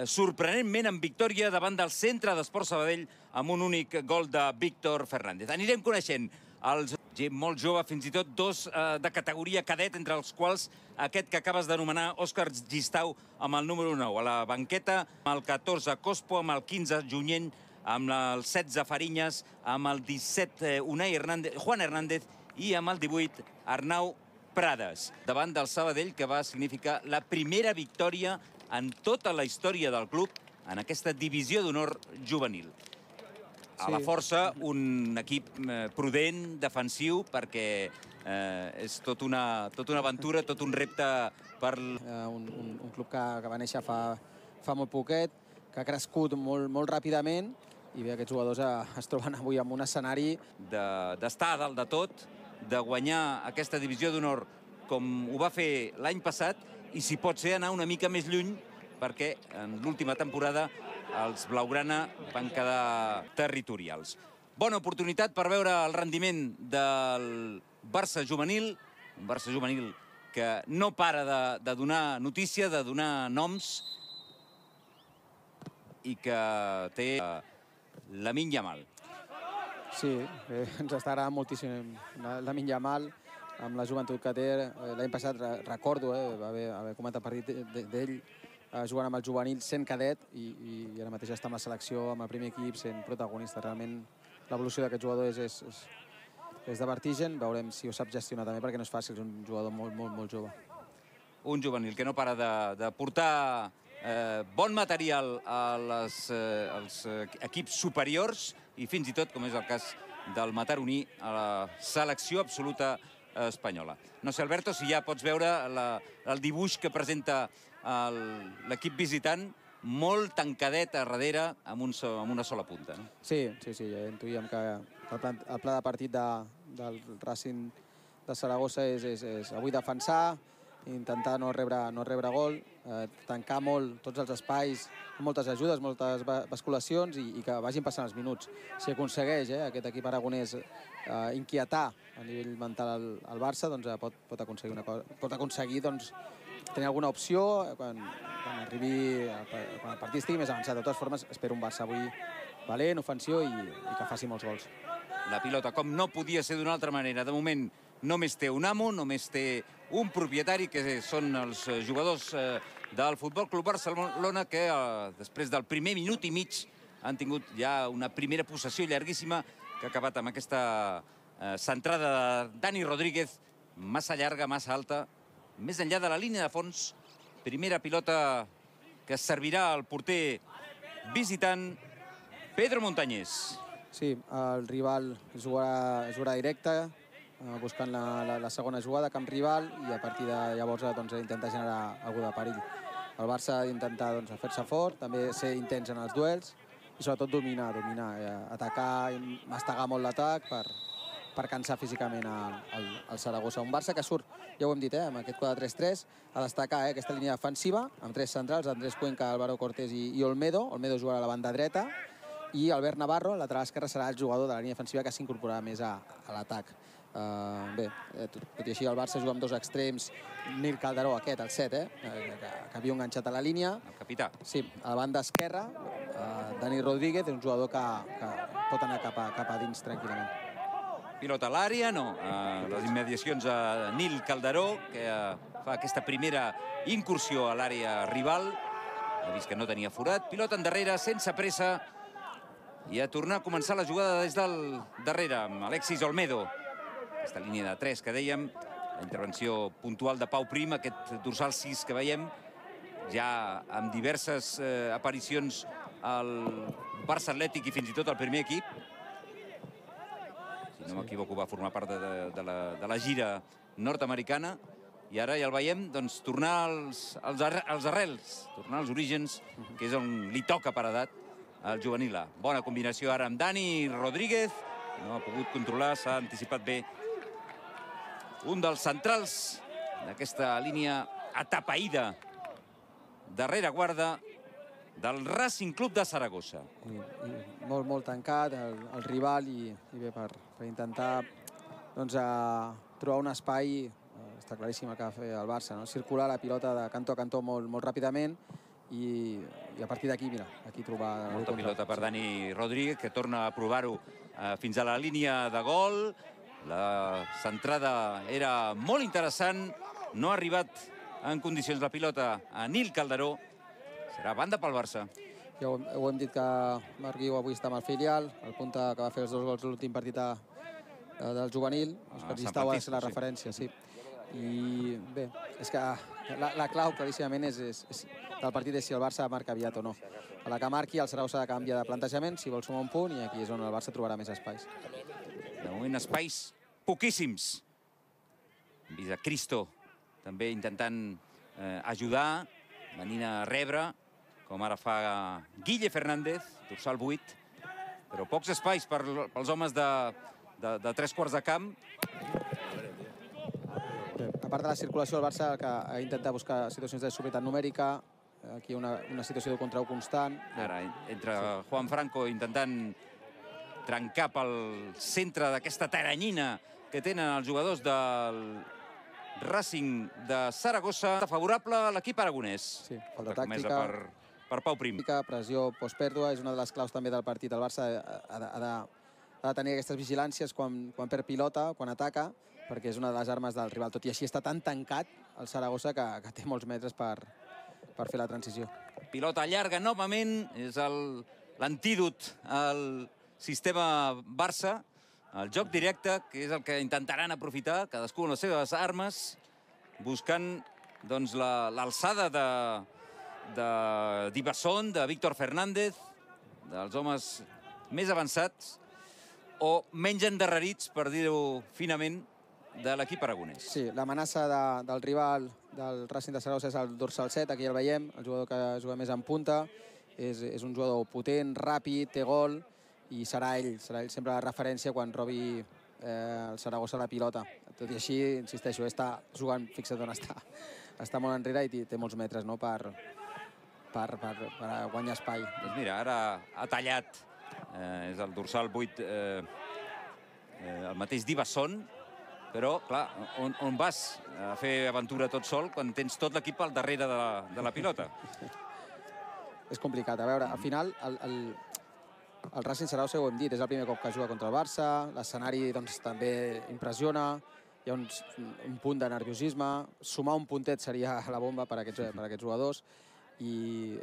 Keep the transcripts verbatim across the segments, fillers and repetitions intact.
sorprenentment en victòria davant del Centre d'Esport Sabadell amb un únic gol de Víctor Fernández. Anirem coneixent els gent molt jove, fins i tot dos de categoria cadet, entre els quals aquest que acabes d'anomenar, Òscar Gistau, amb el número nou. A la banqueta, amb el catorze, Cospo, amb el quinze, Junyent, amb el setze, Fariñas, amb el disset, Unai Hernández, Juan Hernández, i amb el divuit, Arnau Prades, davant del Sabadell, que va significar la primera victòria en tota la història del club en aquesta divisió d'honor juvenil. A la força, un equip prudent, defensiu, perquè és tot una aventura, tot un repte per... Un club que va néixer fa molt poquet, que ha crescut molt ràpidament, i bé, aquests jugadors es troben avui en un escenari... D'estar a dalt de tot, de guanyar aquesta divisió d'honor com ho va fer l'any passat, i si pot ser anar una mica més lluny, perquè en l'última temporada els blaugrana van quedar territorials. Bona oportunitat per veure el rendiment del Barça juvenil, un Barça juvenil que no para de donar notícia, de donar noms, i que té Lamine Yamal. Sí, ens està agradant moltíssim Lamine Yamal, amb la joventut que té. L'any passat, recordo, va haver comentat partit d'ell, jugant amb el juvenil, sent cadet, i ara mateix està amb la selecció, amb el primer equip, sent protagonista. Realment l'evolució d'aquest jugador és de vertigen. Veurem si ho sap gestionar també, perquè no és fàcil, és un jugador molt, molt, molt jove. Un juvenil que no para de portar bon material als equips superiors i fins i tot, com és el cas del mataroní, a la selecció absoluta espanyola. No sé, Alberto, si ja pots veure el dibuix que presenta l'equip visitant, molt tancadet a darrere, amb una sola punta. Sí, sí, sí, ja intuïem que el pla de partit del Racing de Saragossa és avui defensar, intentar no rebre gol, tancar molt tots els espais, moltes ajudes, moltes basculacions, i que vagin passant els minuts. Si aconsegueix aquest equip aragonès inquietar a nivell mental el Barça, doncs pot aconseguir tenir alguna opció quan arribi, quan el partit estigui més avançat. De totes formes, espero un Barça avui valent, ofensiu, i que faci molts gols. La pilota, com no podia ser d'una altra manera, de moment només té un amo, només té un propietari, que són els jugadors del Futbol Club Barcelona, que després del primer minut i mig han tingut ja una primera possessió llarguíssima, que ha acabat amb aquesta centrada de Dani Rodríguez, massa llarga, massa alta, més enllà de la línia de fons. Primera pilota que servirà al porter visitant, Pedro Montañés. Sí, el rival jugarà directe, buscant la segona jugada, camp rival, i a partir de llavors intentar generar algú de perill. El Barça ha d'intentar fer-se fort, també ser intens en els duels, i sobretot dominar, dominar, atacar i mastegar molt l'atac per cansar físicament el Saragossa. Un Barça que surt, ja ho hem dit, amb aquest quatre tres tres, a destacar aquesta línia defensiva, amb tres centrals, Andrés Cuenca, Álvaro Cortés i Olmedo. Olmedo jugarà a la banda dreta, i Albert Navarro, lateral esquerre, serà el jugador de la línia defensiva que s'incorporarà més a l'atac. Bé, tot i així el Barça juga amb dos extrems, Nil Calderó, aquest, el set, que havia enganxat a la línia. El capità. Sí, a la banda esquerra, Dani Rodríguez, un jugador que pot anar cap a dins tranquil·lament. Pilota a l'àrea, no. A les immediacions a Nil Calderó, que fa aquesta primera incursió a l'àrea rival. Ha vist que no tenia forat. Pilota endarrere, sense pressa. I a tornar a començar la jugada des del darrere, amb Alexis Olmedo. Aquesta línia de tres que dèiem, la intervenció puntual de Pau Prim, aquest dorsal sis que veiem, ja amb diverses aparicions al Barça Atlètic i fins i tot al primer equip. Si no m'equivoco, va formar part de la gira nord-americana, i ara ja el veiem tornar als arrels, tornar als orígens, que és on li toca per edat al juvenil A. Bona combinació ara amb Dani Rodríguez, no ha pogut controlar, s'ha anticipat bé un dels centrals d'aquesta línia atapeïda, darrera guarda del Racing Club de Saragossa. Molt, molt tancat el rival, i bé, per intentar trobar un espai, està claríssim el que va fer el Barça, circular la pilota de cantó a cantó molt ràpidament, i, i a partir d'aquí, mira, aquí trobar... Molta pilota per Dani Rodríguez, que torna a provar-ho eh, fins a la línia de gol. La centrada era molt interessant, no ha arribat en condicions la pilota a Nil Calderó. Serà banda pel Barça. Ja ho, ho hem dit que Marc Guiu avui està amb el filial, el punta que va fer els dos gols l'últim partit a, a, del juvenil. Els Ah, que Sant Llistau ha de Francisco, ser la sí. referència, sí. I bé, és que la, la clau claríssimament és, és, és, del partit és si el Barça marca aviat o no. A la que marqui, el Saragossa ha de canviar de plantejament, si vol sumar un punt, i aquí és on el Barça trobarà més espais. De moment, espais poquíssims. Hem vist a Cristo també intentant eh, ajudar, venint a rebre, com ara fa Guille Fernández, dorsal vuit, però pocs espais per, pels homes de, de, de tres quarts de camp. Bé, a part de la circulació, el Barça que ha intentat buscar situacions de superioritat numèrica, aquí una, una situació de contra u constant. Ara, entre Juan Franco intentant trencar pel centre d'aquesta taranyina que tenen els jugadors del Racing de Saragossa. Favorable a l'equip aragonès. Sí, falta comesa tàctica. Per, per Pau Prim. Pressió postpèrdua és una de les claus també del partit. El Barça ha de, ha de, ha de tenir aquestes vigilàncies quan, quan perd pilota, quan ataca, perquè és una de les armes del rival. Tot i així està tan tancat el Saragossa que, que té molts metres per, per fer la transició. Pilota llarga novament, és l'antídot al sistema Barça, el joc directe, que és el que intentaran aprofitar, cadascú amb les seves armes, buscant doncs, l'alçada la, de, de d'Iberson, de Víctor Fernández, dels homes més avançats, o menys endarrerits, per dir-ho finament, de l'equip aragonès. Sí, l'amenaça de, del rival del Racing de Saragossa és el dorsal set, aquí el veiem, el jugador que juga més en punta, és, és un jugador potent, ràpid, té gol, i serà ell, serà ell sempre la referència quan robi eh, el Saragossa la pilota. Tot i així, insisteixo, està jugant, fixa't on està, està molt enrere i té molts metres, no?, per, per, per, per guanyar espai. Doncs mira, ara ha tallat, eh, és el dorsal vuit, eh, eh, el mateix d'Iberson, però, clar, on, on vas a fer aventura tot sol quan tens tot l'equip al darrere de la, de la pilota? És complicat. A veure, al final, el, el, el Racing Saragossa, ho hem dit, és el primer cop que juga contra el Barça, l'escenari doncs, també impressiona, hi ha un, un punt de nerviosisme, sumar un puntet seria la bomba per a aquests, per a aquests jugadors, i,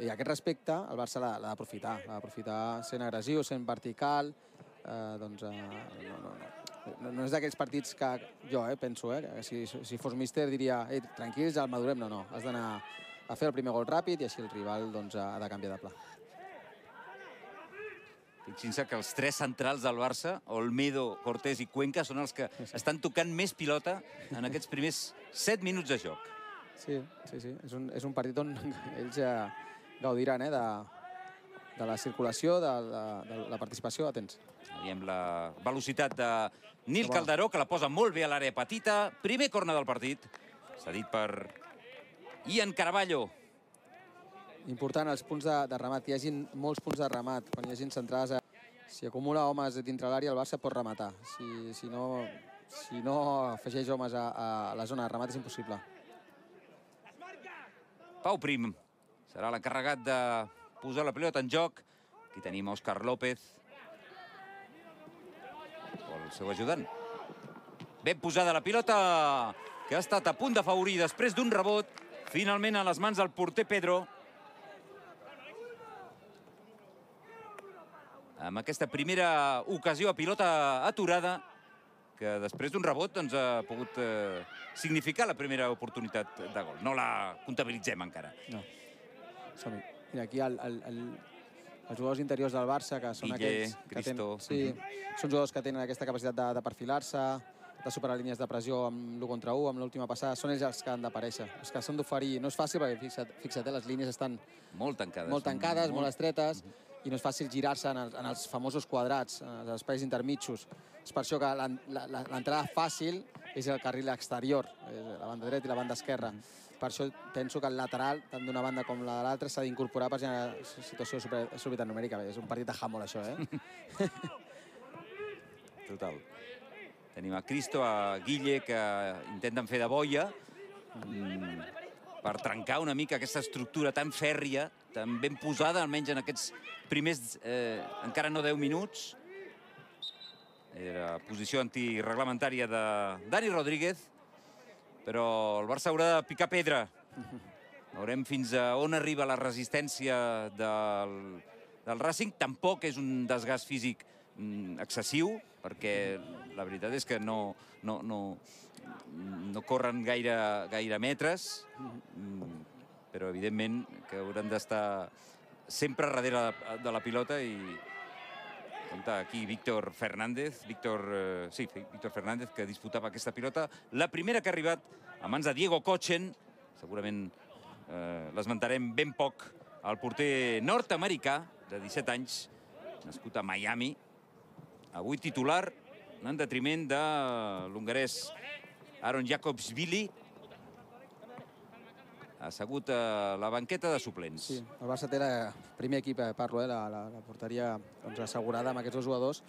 i a aquest respecte el Barça l'ha d'aprofitar, l'ha d'aprofitar sent agressiu, sent vertical, eh, doncs eh, no, no, no. No, no és d'aquells partits que jo eh, penso, eh, que si, si fos míster diria ei, tranquils, el madurem. No, no, has d'anar a fer el primer gol ràpid i així el rival doncs, ha de canviar de pla. Fixin-se que els tres centrals del Barça, Olmedo, Cortés i Cuenca, són els que estan tocant més pilota en aquests primers set minuts de joc. Sí, sí, sí. És un, és un partit on ells eh, gaudiran eh, de, de la circulació, de la, de la participació. Atents. Veiem la velocitat de Nil Calderó, que la posa molt bé a l'àrea petita. Primer corna del partit, cedit per Ian Caraballo. Important els punts de, de remat, que hi hagin molts punts de remat. Quan hi hagin centrades, eh, si acumula homes dintre l'àrea, el Barça pot rematar. Si, si, no, si no afegeix homes a, a la zona de remat, és impossible. Pau Prim serà l'encarregat de posar la pilota en joc. Aquí tenim Òscar López, el seu ajudant. Ben posada la pilota, que ha estat a punt d'afavorir després d'un rebot, finalment a les mans del porter Pedro. Amb aquesta primera ocasió a pilota aturada, que després d'un rebot doncs, ha pogut eh, significar la primera oportunitat de gol. No la comptabilitzem encara. No. Som-hi. Mira, aquí el, el, el, els jugadors interiors del Barça, que són Guille, aquells que Cristo. tenen, sí, són jugadors que tenen aquesta capacitat de, de perfilar-se, de superar línies de pressió amb l'u contra u, amb l'última passada, són ells els que han d'aparèixer. Els que s'han d'oferir. No és fàcil perquè, fixa't, fixa't eh, les línies estan molt tancades, molt, tancades, molt... molt estretes, i no és fàcil girar-se en, el, en els famosos quadrats, en els espais intermitjos. És per això que l'entrada fàcil és el carril exterior, la banda dreta i la banda esquerra. Per això penso que el lateral, tant d'una banda com la de l'altra, s'ha d'incorporar per generar situació de superioritat numèrica. És un partit de handball, això, eh? Total. Tenim a Cristo, a Guille, que intenten fer de boia. Mm, per trencar una mica aquesta estructura tan fèrria, tan ben posada, almenys en aquests primers encara no deu minuts. Era posició antireglamentària de Dani Rodríguez, però el Barça haurà de picar pedra. Veurem fins a on arriba la resistència del Racing. Tampoc és un desgast físic excessiu, perquè la veritat és que no corren gaire metres, però evidentment que hauran d'estar sempre darrere de la pilota i compta aquí Víctor Fernández, Víctor, sí, Víctor Fernández, que disputava aquesta pilota. La primera que ha arribat a mans de Diego Kochen, segurament l'esmentarem ben poc, el porter nord-americà de disset anys, nascut a Miami, avui titular en detriment de l'hongarès Aaron Jakobsvili, assegut a la banqueta de suplents. Sí, el Barça té el primer equip, parlo, la porteria assegurada amb aquests dos jugadors.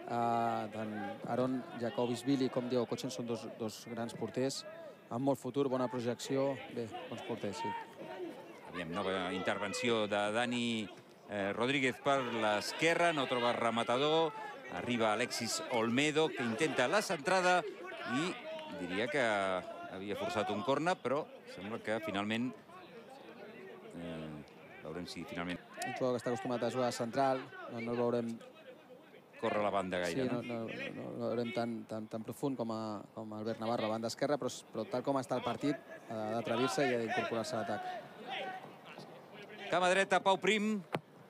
Tant Aaron Jakobsvili com Diego Kochen són dos grans porters, amb molt futur, bona projecció, bé, bons porters, sí. Aviam, nova intervenció de Dani Rodríguez per l'esquerra, no troba rematador, arriba Alexis Olmedo, que intenta la centrada i diria que havia forçat un córner, però sembla que finalment veurem si finalment... Un jugador que està acostumat a jugar central, no el veurem... Corre a la banda gaire, no? Sí, no el veurem tan profund com Albert Navarro, a banda esquerra, però tal com està el partit, ha d'atrevir-se i ha d'incorporar-se a l'atac. Cama dreta, Pau Prim,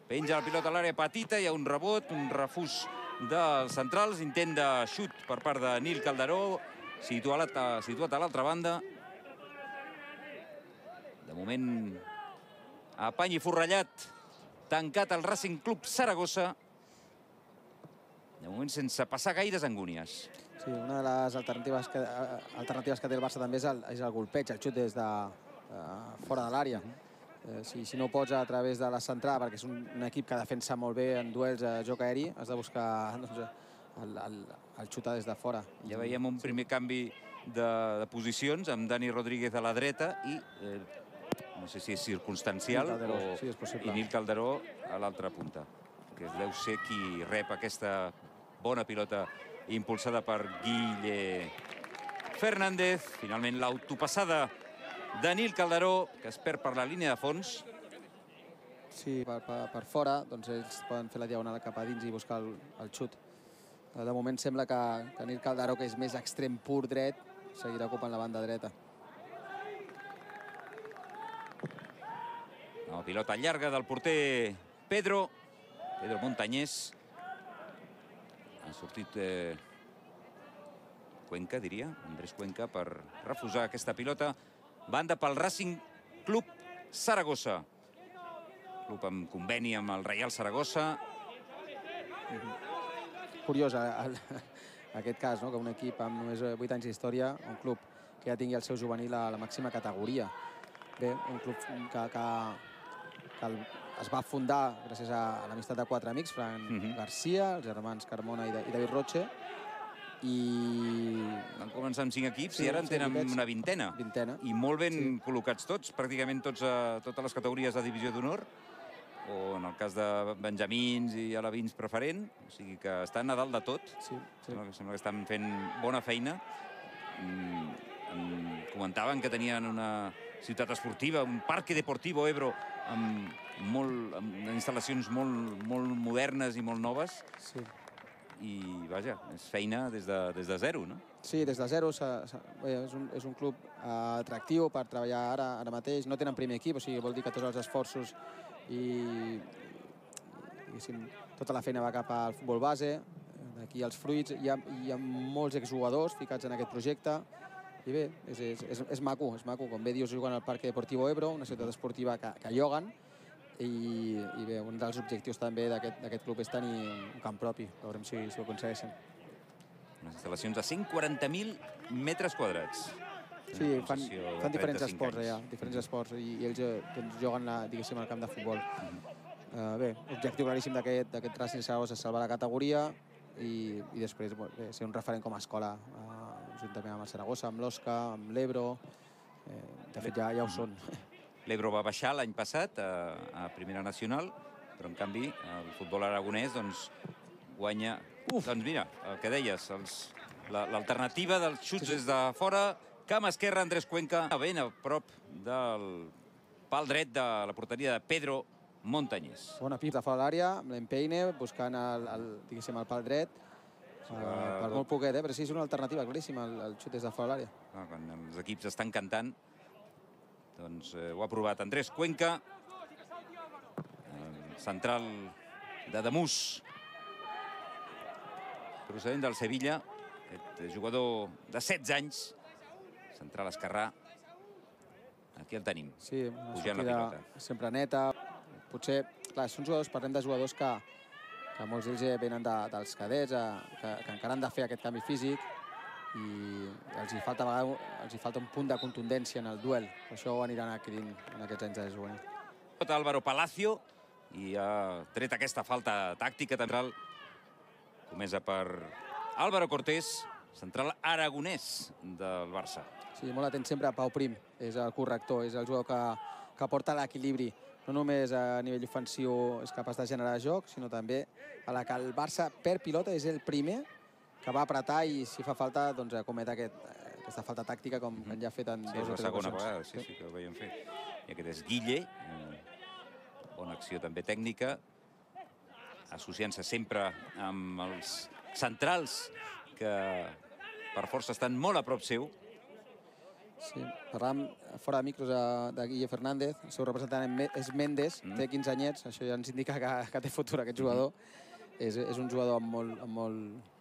penja la pilota a l'àrea petita, hi ha un rebot, un refús dels centrals, intent de xut per part de Nil Calderó, situat a l'altra banda. De moment, apany i forrellat, tancat el Racing Club Saragossa, de moment sense passar gaires angúnies. Sí, una de les alternatives que té el Barça també és el golpeig, el xut des de fora de l'àrea. Si no pots a través de la centrada, perquè és un equip que defensa molt bé en duels a joc aeri, has de buscar el xutar des de fora. Ja veiem un primer canvi de posicions amb Dani Rodríguez a la dreta i, no sé si és circumstancial, i Nil Calderó a l'altra punta, que deu ser qui rep aquesta bona pilota impulsada per Guille Fernández. Finalment l'autopassada de Nil Calderó, que es perd per la línia de fons. Sí, per fora, doncs ells poden fer la diagonal cap a dins i buscar el xut. De moment sembla que Nil Calderó, que és més extrem pur dret, seguirà ocupant la banda dreta. La pilota llarga del porter Pedro, Pedro Montañés. Ha sortit Cuenca, diria, Andrés Cuenca, per refusar aquesta pilota. Banda pel Racing Club Saragossa. Club amb conveni amb el Reial Saragossa. Curiós aquest cas, que un equip amb només vuit anys d'història, un club que ja tingui el seu juvenil a la màxima categoria. Bé, un club que es va fundar gràcies a l'amistat de quatre amics, Fran Garcia, els germans Carmona i David Roche, i... Van començar amb cinc equips i ara en tenen una vintena. I molt ben col·locats tots, pràcticament totes les categories de divisió d'honor, o en el cas de benjamins i alevins preferent, o sigui que estan a dalt de tot. Sembla que estan fent bona feina. Comentaven que tenien una ciutat esportiva, un parque deportivo Ebro, amb instal·lacions molt modernes i molt noves. I, vaja, és feina des de zero, no? Sí, des de zero. És un club atractiu per treballar ara mateix. No tenen primer equip, o sigui, vol dir que tots els esforços i tota la feina va cap al futbol base. D'aquí els fruits. Hi ha molts exjugadors ficats en aquest projecte. I bé, és maco, és maco. Com bé dius, juguen al Parque Deportivo Ebro, una ciutat esportiva que lloguen. I bé, un dels objectius també d'aquest club és tenir un camp propi. Veurem si ho aconsegueixen. Unes instal·lacions de cent quaranta mil metres quadrats. Sí, fan diferents esports allà, diferents esports, i ells juguen, diguéssim, al camp de futbol. Bé, objectiu claríssim d'aquest Racing Saragossa és salvar la categoria i després ser un referent com a escola, juntament amb el Saragossa, amb l'Osca, amb l'Ebro. De fet, ja, ja ho són. L'Ebro va baixar l'any passat a, a Primera Nacional, però en canvi el futbol aragonès doncs, guanya... Uf. Doncs mira, el que deies, l'alternativa dels xuts sí, sí. des de fora, camp esquerre, Andrés Cuenca, ben a prop del pal dret de la porteria de Pedro Montañés. Bona pip de fora a l'àrea, amb l'Empeine, buscant el, el, diguéssim, el pal dret. Uh, per molt poquet, eh? Però sí, és una alternativa claríssima, el, el xut des de fora a l'àrea. Ah, quan els equips estan cantant, doncs eh, ho ha provat Andrés Cuenca, el central de Damús, procedent del Sevilla, aquest jugador de setze anys, central esquerrà. Aquí el tenim, sí, pujant la pilota. Sempre neta. Potser, clar, són jugadors, parlem de jugadors que, que molts d'ells venen de, dels cadets, que, que encara han de fer aquest canvi físic i els hi falta, a vegades, els hi falta un punt de contundència en el duel. Per això ho aniran adquirint en aquests anys de juvenil. Álvaro Palacio i ha tret aquesta falta tàctica central comesa per Álvaro Cortés, central aragonès del Barça. Sí, molt atent sempre a Pau Prim, és el corrector, és el jugador que, que porta l'equilibri. No només a nivell ofensiu és capaç de generar joc, sinó també a la que el Barça perd pilota és el primer que va apretar i si fa falta doncs comet aquest, aquesta falta tàctica com mm -hmm. ja ha fet en sí, dos o tres segona vegada, sí, sí, que ho veiem fer. I aquest és Guille, bona acció també tècnica, associant-se sempre amb els centrals que per força estan molt a prop seu. Sí, parlàvem fora de micros de, de Guille Fernández, el seu representant és Méndez, mm. té quinze anyets, això ja ens indica que, que té futur aquest jugador. Mm. És, és un jugador amb, molt, amb molt,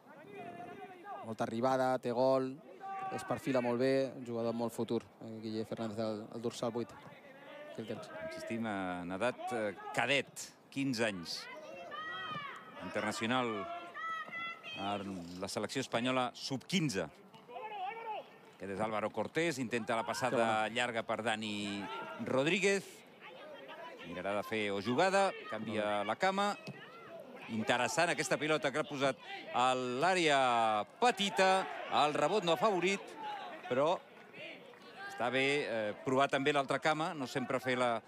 molta arribada, té gol, es perfila molt bé, un jugador amb molt futur, Guille Fernández, el, el dorsal vuit. Aquí el tens. Insistim en edat cadet, quinze anys. Internacional a la selecció espanyola sub quinze. Aquest és Álvaro Cortés, intenta la passada llarga per Dani Rodríguez. Mirarà de fer o jugada, canvia la cama. Interessant aquesta pilota que ha posat a l'àrea petita. El rebot no ha favorit, però està bé eh, provar també l'altra cama, no sempre fer la,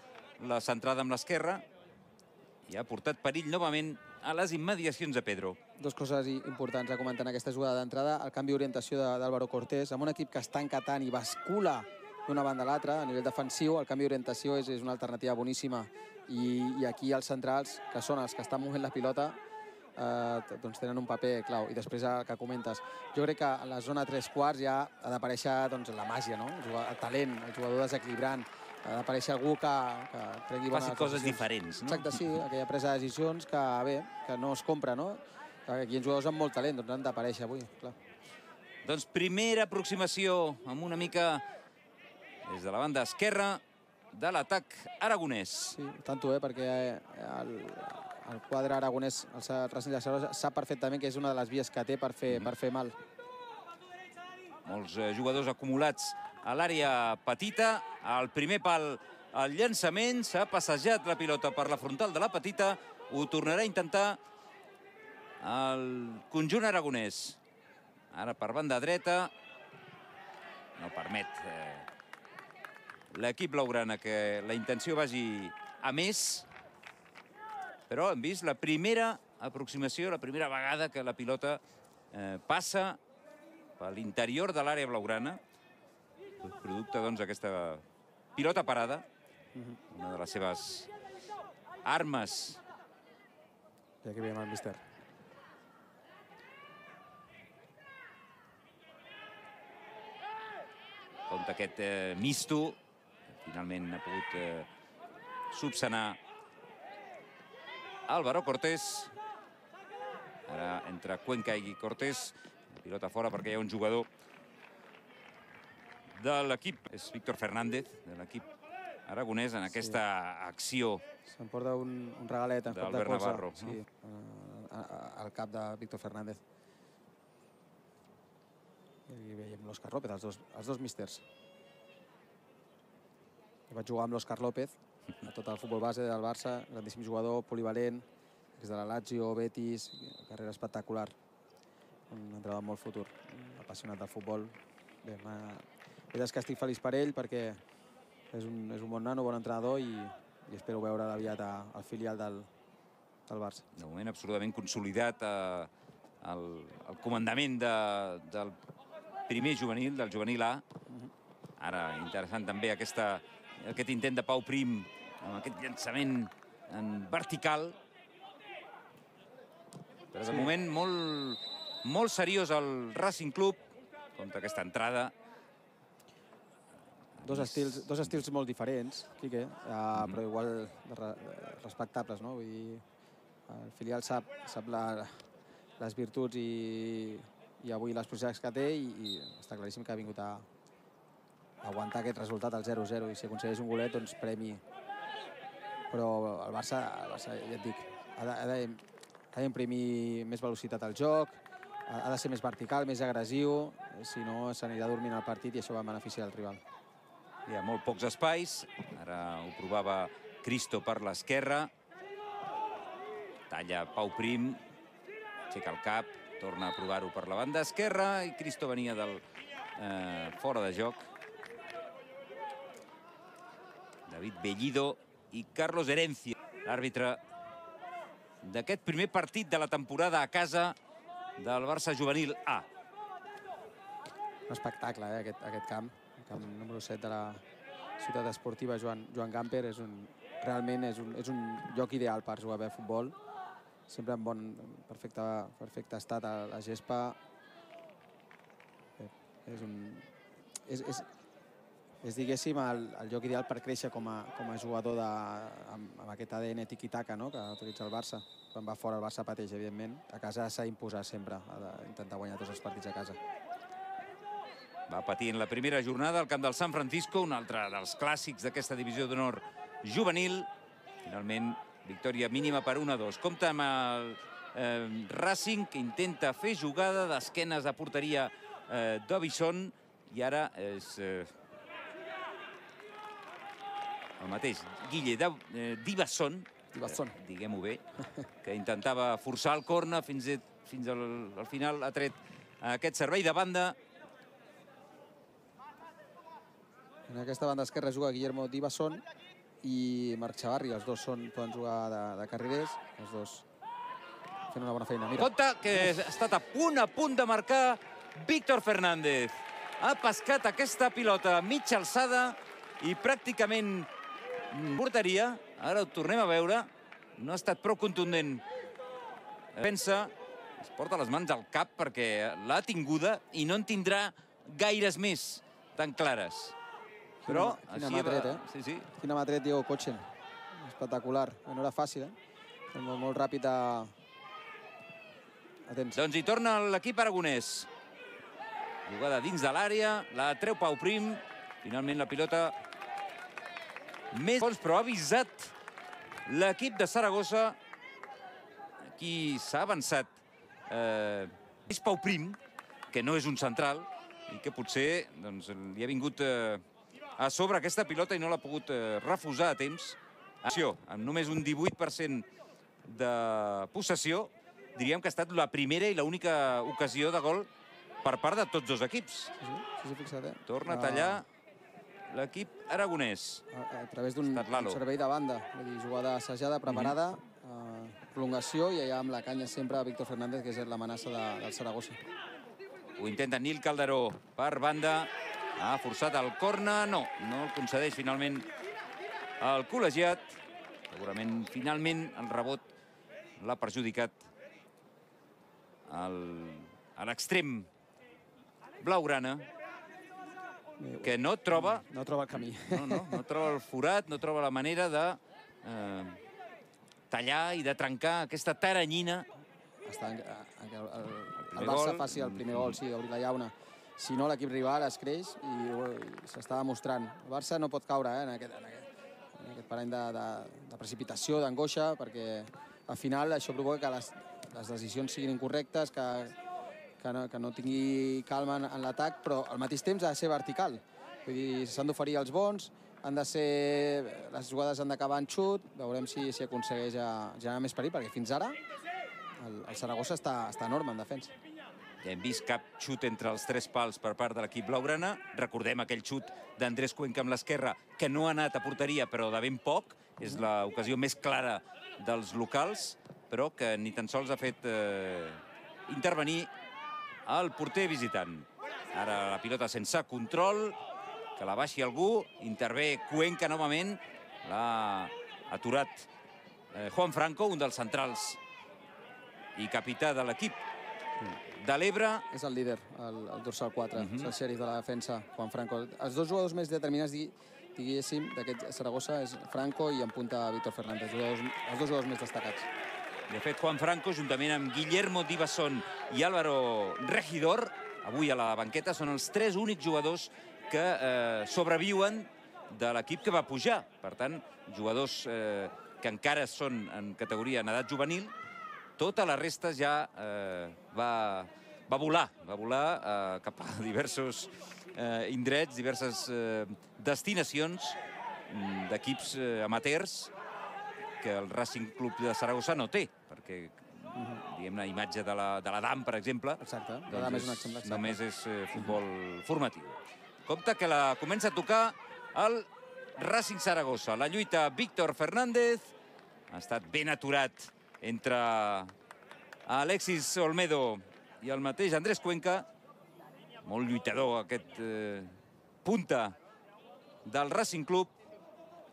la centrada amb l'esquerra. I ha portat perill novament a les immediacions de Pedro. Dos coses importants a comentar en aquesta jugada d'entrada. El canvi d'orientació d'Álvaro Cortés, amb un equip que està encatant i bascula d'una banda a l'altra a nivell defensiu, el canvi d'orientació és, és una alternativa boníssima. I, I aquí els centrals, que són els que estan movent la pilota, eh, doncs tenen un paper clau. I després el que comentes. Jo crec que a la zona tres quarts ja ha d'aparèixer doncs, la màgia, no? El, jugador, el talent, el jugador desequilibrant. Ha d'aparèixer algú que, que tregui bones faci coses diferents, no? Exacte, sí, aquella presa de decisions que, bé, que no es compra, no? Aquí hi ha jugadors amb molt talent, doncs han d'aparèixer avui, clar. Doncs primera aproximació amb una mica des de la banda esquerra de l'atac aragonès. Sí, tanto, eh, perquè el, el quadre aragonès, el Racing de Salós, sap perfectament que és una de les vies que té per fer, mm. per fer mal. Molts eh, jugadors acumulats a l'àrea petita. Al primer pal, el llançament. S'ha passejat la pilota per la frontal de la petita. Ho tornarà a intentar el conjunt aragonès. Ara per banda dreta. No permet eh, l'equip blaugrana que la intenció vagi a més. Però hem vist la primera aproximació, la primera vegada que la pilota eh, passa per l'interior de l'àrea blaugrana. Producte, doncs, d'aquesta pilota parada. Una de les seves armes. I aquí veiem el míster. Compte aquest eh, misto. Finalment ha pogut eh, subsanar Álvaro Cortés. Ara entre Cuenca i Cortés. La pilota fora perquè hi ha un jugador de l'equip. És Víctor Fernández, de l'equip aragonès, en aquesta sí. acció. S'emporta un, un regalet en cop de colze. Navarro. Sí, no? al cap de Víctor Fernández. I veiem l'Òscar López, els dos, els dos místers. Jo vaig jugar amb l'Òscar López a tot el futbol base del Barça, grandíssim jugador, polivalent, des de la Lazio, Betis, carrera espectacular. Un entrenador amb molt futur, apassionat del futbol. Bé, és que estic feliç per ell perquè és un, és un bon nano, bon entrenador i, i espero veure aviat al filial del, del Barça. De moment absolutament consolidat eh, el, el comandament de, del primer juvenil, del juvenil A. Ara interessant també aquesta, aquest intent de Pau Prim amb aquest llançament en vertical. Però de moment molt, molt seriós el Racing Club contra aquesta entrada. Dos estils, dos estils molt diferents, Quique, uh, però igual re, respectables, no? Vull dir, el filial sap, sap la, les virtuts i, i avui les possibilitats que té i, i està claríssim que ha vingut a, a aguantar aquest resultat al zero zero i si aconsegueix un golet, doncs premi. Però el Barça, el Barça ja et dic, ha d'imprimir més velocitat al joc, ha de ser més vertical, més agressiu, si no s'anirà dormint el partit i això va en benefici del rival. Hi ha molt pocs espais, ara ho provava Cristo per l'esquerra. Talla Pau Prim, aixeca el cap, torna a provar-ho per la banda esquerra i Cristo venia del eh, fora de joc. David Bellido i Carlos Herencia, l'àrbitre d'aquest primer partit de la temporada a casa del Barça Juvenil A. Un espectacle, eh, aquest, aquest camp. El camp número set de la ciutat esportiva Joan, Joan Gamper. És un, realment és un, és un lloc ideal per jugar bé a futbol. Sempre en bon, perfecte, perfecte estat a la gespa. Bé, és un... És, és, és diguéssim, el, el lloc ideal per créixer com a, com a jugador de, amb, amb aquest A D N tiki-taka, no?, que utilitza el Barça. Quan va fora el Barça pateix, evidentment. A casa s'ha d'imposar sempre, ha d'intentar guanyar tots els partits a casa. Va patir en la primera jornada al camp del San Francisco, un altre dels clàssics d'aquesta divisió d'honor juvenil. Finalment, victòria mínima per un a dos. Compta amb el eh, Racing, que intenta fer jugada d'esquenes a porteria eh, d'Ovison, i ara és eh, el mateix Guille eh, D'Ivasson, eh, diguem-ho bé, que intentava forçar el corna fins, fins al, al final ha tret aquest servei de banda. En aquesta banda esquerra juga Guillermo D'Ivasson i Marc Chavarri. Els dos són, poden jugar de, de carrilers. Els dos fent una bona feina. Mira. Compte que ha estat a punt, a punt de marcar Víctor Fernández. Ha pescat aquesta pilota a mitja alçada i pràcticament porteria. Ara ho tornem a veure. No ha estat prou contundent. Pensa, es porta les mans al cap perquè l'ha tinguda i no en tindrà gaires més tan clares. Però, quina mà tret, eh? Sí, sí. Quina mà tret Diego Kochen. Espectacular. No era fàcil, eh? Molt, molt ràpid a... a temps. Doncs hi torna l'equip aragonès. Jugada dins de l'àrea, la treu Pau Prim. Finalment la pilota més fons, però ha avisat l'equip de Saragossa. Aquí s'ha avançat. Eh, és Pau Prim, que no és un central, i que potser doncs, li ha vingut... Eh, a sobre aquesta pilota i no l'ha pogut eh, refusar a temps. Acció, amb només un divuit per cent de possessió, diríem que ha estat la primera i l'única ocasió de gol per part de tots dos equips. Sí, sí, sí, fixa't, eh? Torna a tallar l'equip aragonès. A, a través d'un servei de banda, vull dir, jugada assajada, preparada, mm-hmm. eh, prolongació, i allà amb la canya sempre Víctor Fernández, que és l'amenaça de, del Saragossa. Ho intenta Nil Calderó per banda. Ha forçat el corna, no, no el concedeix finalment el col·legiat. Segurament, finalment, el rebot l'ha perjudicat a l'extrem blaugrana, que no troba... No troba el camí. No, no, no troba el forat, no troba la manera de eh, tallar i de trencar aquesta taranyina. Està en, en, el, el, el Barça faci el primer gol, sí, d'obrir la llauna. Si no, l'equip rival es creix i, i s'està demostrant. El Barça no pot caure eh, en, aquest, en, aquest, en aquest parany de, de, de precipitació, d'angoixa, perquè al final això provoca que les, les decisions siguin incorrectes, que, que, no, que no tingui calma en, en l'atac, però al mateix temps ha de ser vertical. Vull dir, s'han d'oferir els bons, han de ser, les jugades han d'acabar en xut, veurem si, si aconsegueix generar més perill, perquè fins ara el, el Saragossa està, està enorme en defensa. Ja hem vist cap xut entre els tres pals per part de l'equip blaugrana. Recordem aquell xut d'Andrés Cuenca amb l'esquerra, que no ha anat a porteria, però de ben poc. És l'ocasió més clara dels locals, però que ni tan sols ha fet eh, intervenir el porter visitant. Ara la pilota sense control, que la baixi algú, intervé Cuenca novament, l'ha aturat eh, Juan Franco, un dels centrals i capità de l'equip de l'Ebre. És el líder, el, el dorsal quatre, és el xèrif de la defensa, Juan Franco. Els dos jugadors més determinats, diguéssim, d'aquest Saragossa és Franco i en punta Víctor Fernández, els dos jugadors més destacats. De fet, Juan Franco, juntament amb Guillermo Divasson i Álvaro Regidor, avui a la banqueta, són els tres únics jugadors que eh, sobreviuen de l'equip que va pujar. Per tant, jugadors eh, que encara són en categoria en edat juvenil. Tota la resta ja eh, va, va volar, va volar eh, cap a diversos eh, indrets, diverses eh, destinacions d'equips eh, amateurs que el Racing Club de Saragossa no té, perquè, diguem-ne, imatge de la, de la D A M, per exemple, Exacte, la doncs D A M és un exemple. Exacte. Només és eh, futbol formatiu. Compte que la comença a tocar el Racing Saragossa. La lluita Víctor Fernández ha estat ben aturat entre Alexis Olmedo i el mateix Andrés Cuenca. Molt lluitador aquest eh, punta del Racing Club,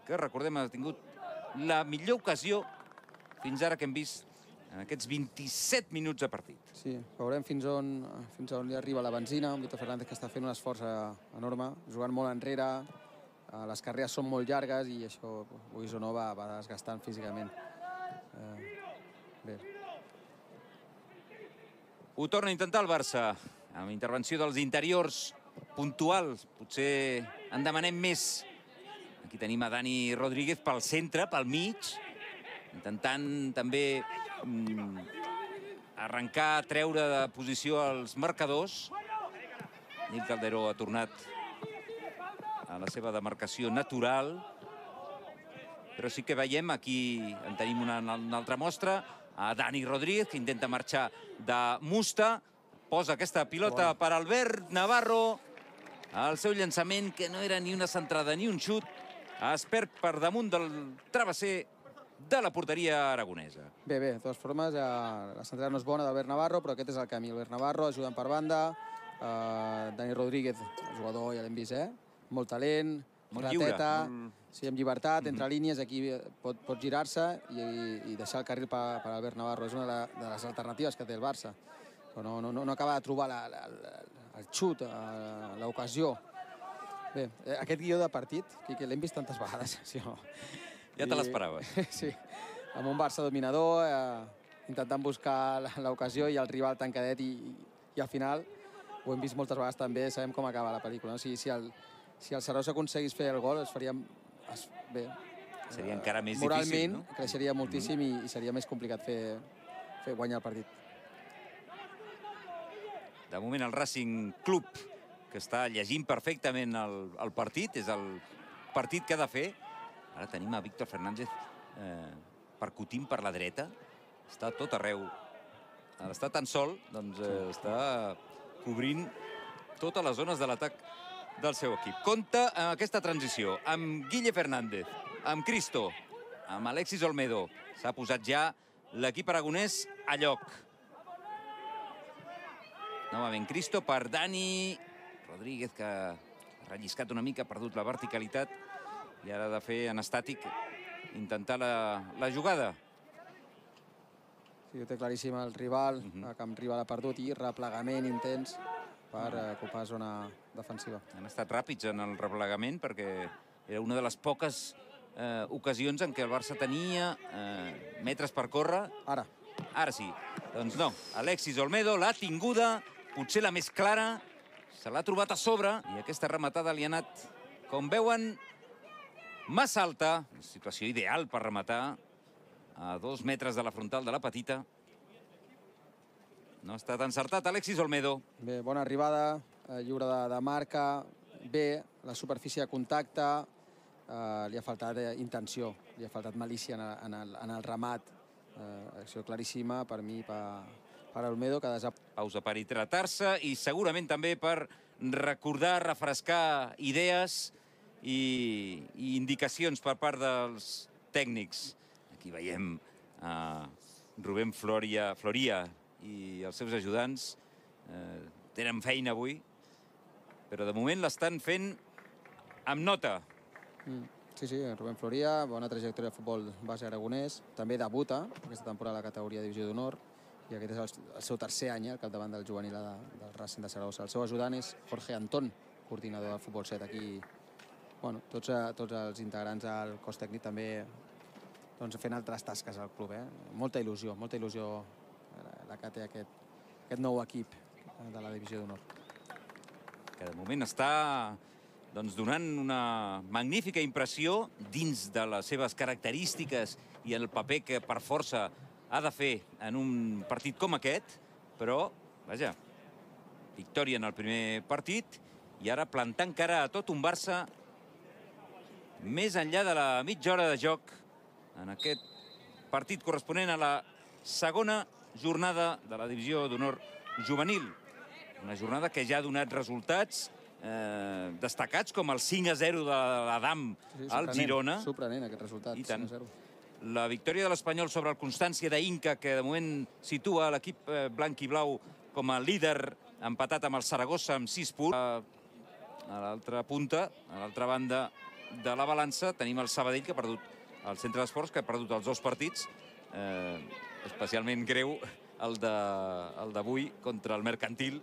que recordem ha tingut la millor ocasió fins ara que hem vist en aquests vint-i-set minuts de partit. Sí, veurem fins on, fins on li arriba la benzina. Un Víctor Fernández que està fent un esforç enorme, jugant molt enrere, les carreres són molt llargues i això, vulguis o no, va, va desgastant físicament. Eh, bé. Ho torna a intentar el Barça, amb intervenció dels interiors puntuals. Potser en demanem més. Aquí tenim a Dani Rodríguez pel centre, pel mig, intentant també mm, arrencar, treure de posició els marcadors. Nil Calderó ha tornat a la seva demarcació natural, però sí que veiem, aquí en tenim una, una altra mostra, a Dani Rodríguez, que intenta marxar de Musta, posa aquesta pilota per Albert Navarro, el seu llançament, que no era ni una centrada ni un xut, es perd per damunt del travesser de la porteria aragonesa. Bé, bé, de totes formes, eh, la centrada no és bona d'Albert Navarro, però aquest és el camí. Albert Navarro ajudant per banda, eh, Dani Rodríguez, el jugador, ja l'hem vist, eh? Molt talent, molt rateta, lliure, molt... sí, amb llibertat, entre mm-hmm. línies, aquí pot, pot girar-se i, i deixar el carril per, per Albert Navarro. És una de, de les alternatives que té el Barça. Però no, no, no acaba de trobar la, la, la, el xut, l'ocasió. Bé, aquest guió de partit, que l'hem vist tantes vegades, sí o no? Ja te l'esperaves. Sí, amb un Barça dominador, eh, intentant buscar l'ocasió i el rival tancadet i, i al final, ho hem vist moltes vegades també, sabem com acaba la pel·lícula. No? Si, si, el, si el Saragossa aconseguís fer el gol, es faria... Es, bé, seria encara més moralment, difícil, no? Moralment creixeria moltíssim mm-hmm. i, i seria més complicat fer, fer guanyar el partit. De moment el Racing Club, que està llegint perfectament el, el partit, és el partit que ha de fer. Ara tenim a Víctor Fernández eh, percutint per la dreta. Està tot arreu. Ara està tan sol, doncs eh, està cobrint totes les zones de l'atac del seu equip. Compte amb aquesta transició, amb Guille Fernández, amb Cristo, amb Alexis Olmedo. S'ha posat ja l'equip aragonès a lloc. Novament Cristo per Dani Rodríguez, que ha relliscat una mica, ha perdut la verticalitat i ara ha de fer en estàtic intentar la, la jugada. Sí, ho té claríssim el rival, uh-huh. el camp rival ha perdut i replegament intens per uh, ocupar zona defensiva. Han estat ràpids en el replegament perquè era una de les poques eh, ocasions en què el Barça tenia eh, metres per córrer. Ara. Ara sí. Doncs no, Alexis Olmedo l'ha tinguda, potser la més clara, se l'ha trobat a sobre i aquesta rematada li ha anat, com veuen, massa alta. Situació ideal per rematar a dos metres de la frontal de la petita. No ha estat encertat Alexis Olmedo. Bé, bona arribada, eh, lliure de, de marca, bé, la superfície de contacte, eh, li ha faltat eh, intenció, li ha faltat malícia en el, en el, en el remat. Eh, acció claríssima per mi, per, per Olmedo, que desap... Pausa per hidratar-se i segurament també per recordar, refrescar idees i, i indicacions per part dels tècnics. Aquí veiem a Rubén Floria, Floria i els seus ajudants. Eh, tenen feina avui, però de moment l'estan fent amb nota. Mm. Sí, sí, Rubén Floria, bona trajectòria de futbol base aragonès. També debuta aquesta temporada a la categoria Divisió d'Honor. I aquest és el, el seu tercer any, eh, al capdavant del juvenil de, del Racing de Saragossa. El seu ajudant és Jorge Antón, coordinador del futbol set. Aquí, bueno, tots, tots els integrants del cos tècnic també doncs, fent altres tasques al club. Eh? Molta il·lusió, molta il·lusió la que té aquest, aquest nou equip de la Divisió d'Honor. Que de moment està doncs, donant una magnífica impressió dins de les seves característiques i el paper que per força ha de fer en un partit com aquest, però, vaja, victòria en el primer partit i ara plantant cara a tot un Barça més enllà de la mitja hora de joc en aquest partit corresponent a la segona jornada de la Divisió d'Honor juvenil. Una jornada que ja ha donat resultats eh, destacats, com el cinc a zero de l'Adam sí, al Girona. Sorprenent aquest resultat, I tant. cinc a zero. La victòria de l'Espanyol sobre el Constància d'Inca, que de moment situa l'equip blanc i blau com a líder, empatat amb el Saragossa amb sis punts. A l'altra punta, a l'altra banda de la balança, tenim el Sabadell, que ha perdut el Centre d'Esports, que ha perdut els dos partits. Eh, especialment greu el d'avui contra el Mercantil.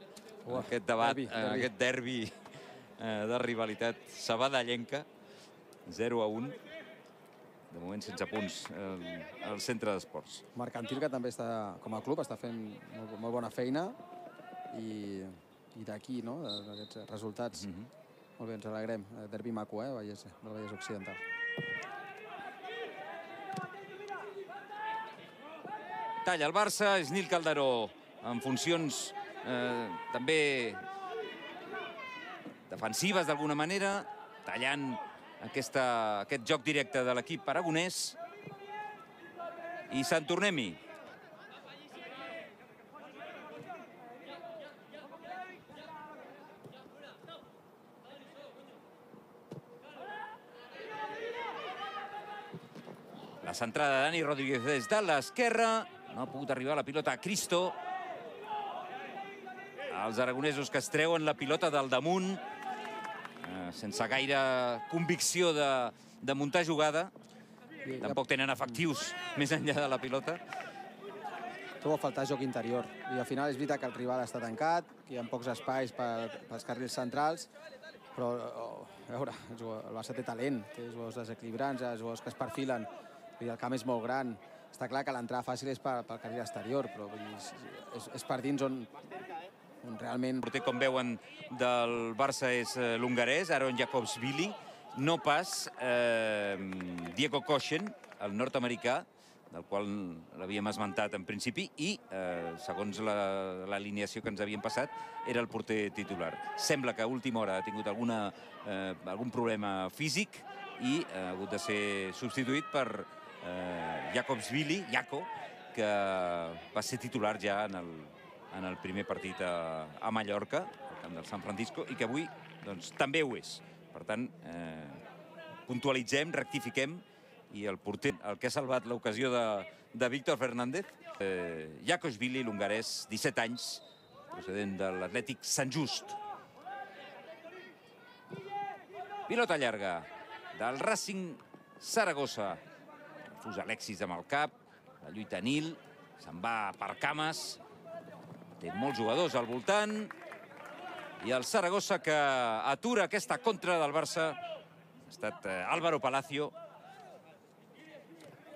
Uh, aquest debat, derbi, derbi. aquest derbi eh, de rivalitat sabadellenca. zero a un. De moment sense punts al Centre d'Esports. Mercantil, que també està, com a club, està fent molt, molt bona feina i, i d'aquí, no?, d'aquests resultats. Mm-hmm. Molt bé, ens alegrem. Derbi maco, eh, Vallès, del Vallès Occidental. Talla el Barça, és Nil Calderó en funcions eh, també defensives d'alguna manera, tallant Aquesta, aquest joc directe de l'equip aragonès. I Sant Tornem-hi. La centrada de Dani Rodríguez des de l'esquerra. No ha pogut arribar la pilota a Cristo. Els aragonesos que es treuen la pilota del damunt, sense gaire convicció de, de muntar jugada. Tampoc tenen efectius més enllà de la pilota. Trobo a faltar joc interior. I al final és veritat que el rival està tancat, que hi ha pocs espais per, pels carrils centrals, però, oh, a veure, el Barça té talent, té jugadors desequilibrants, jugadors que es perfilen, i el camp és molt gran. Està clar que l'entrada fàcil és pel, pel carril exterior, però vull dir, és, és per dins on... realment... El porter, com veuen, del Barça és eh, l'hongarès, Aron Jakobsvili, no pas eh, Diego Kochen, el nord-americà, del qual l'havíem esmentat en principi, i, eh, segons l'alineació que ens havien passat, era el porter titular. Sembla que a última hora ha tingut alguna, eh, algun problema físic i ha hagut de ser substituït per eh, Jakobsvili, Jaco, que va ser titular ja en el en el primer partit a, a Mallorca, al camp del San Francisco, i que avui doncs, també ho és. Per tant, eh, puntualitzem, rectifiquem, i el porter, el que ha salvat l'ocasió de, de Víctor Fernández, eh, Jakobsvili, l'hongarès, disset anys, procedent de l'Atlètic Sant Just. Pilota llarga del Racing Saragossa. Refusa Alexis amb el cap, la lluita Nil, se'n va per cames. Té molts jugadors al voltant. I el Saragossa, que atura aquesta contra del Barça, ha estat eh, Álvaro Palacio,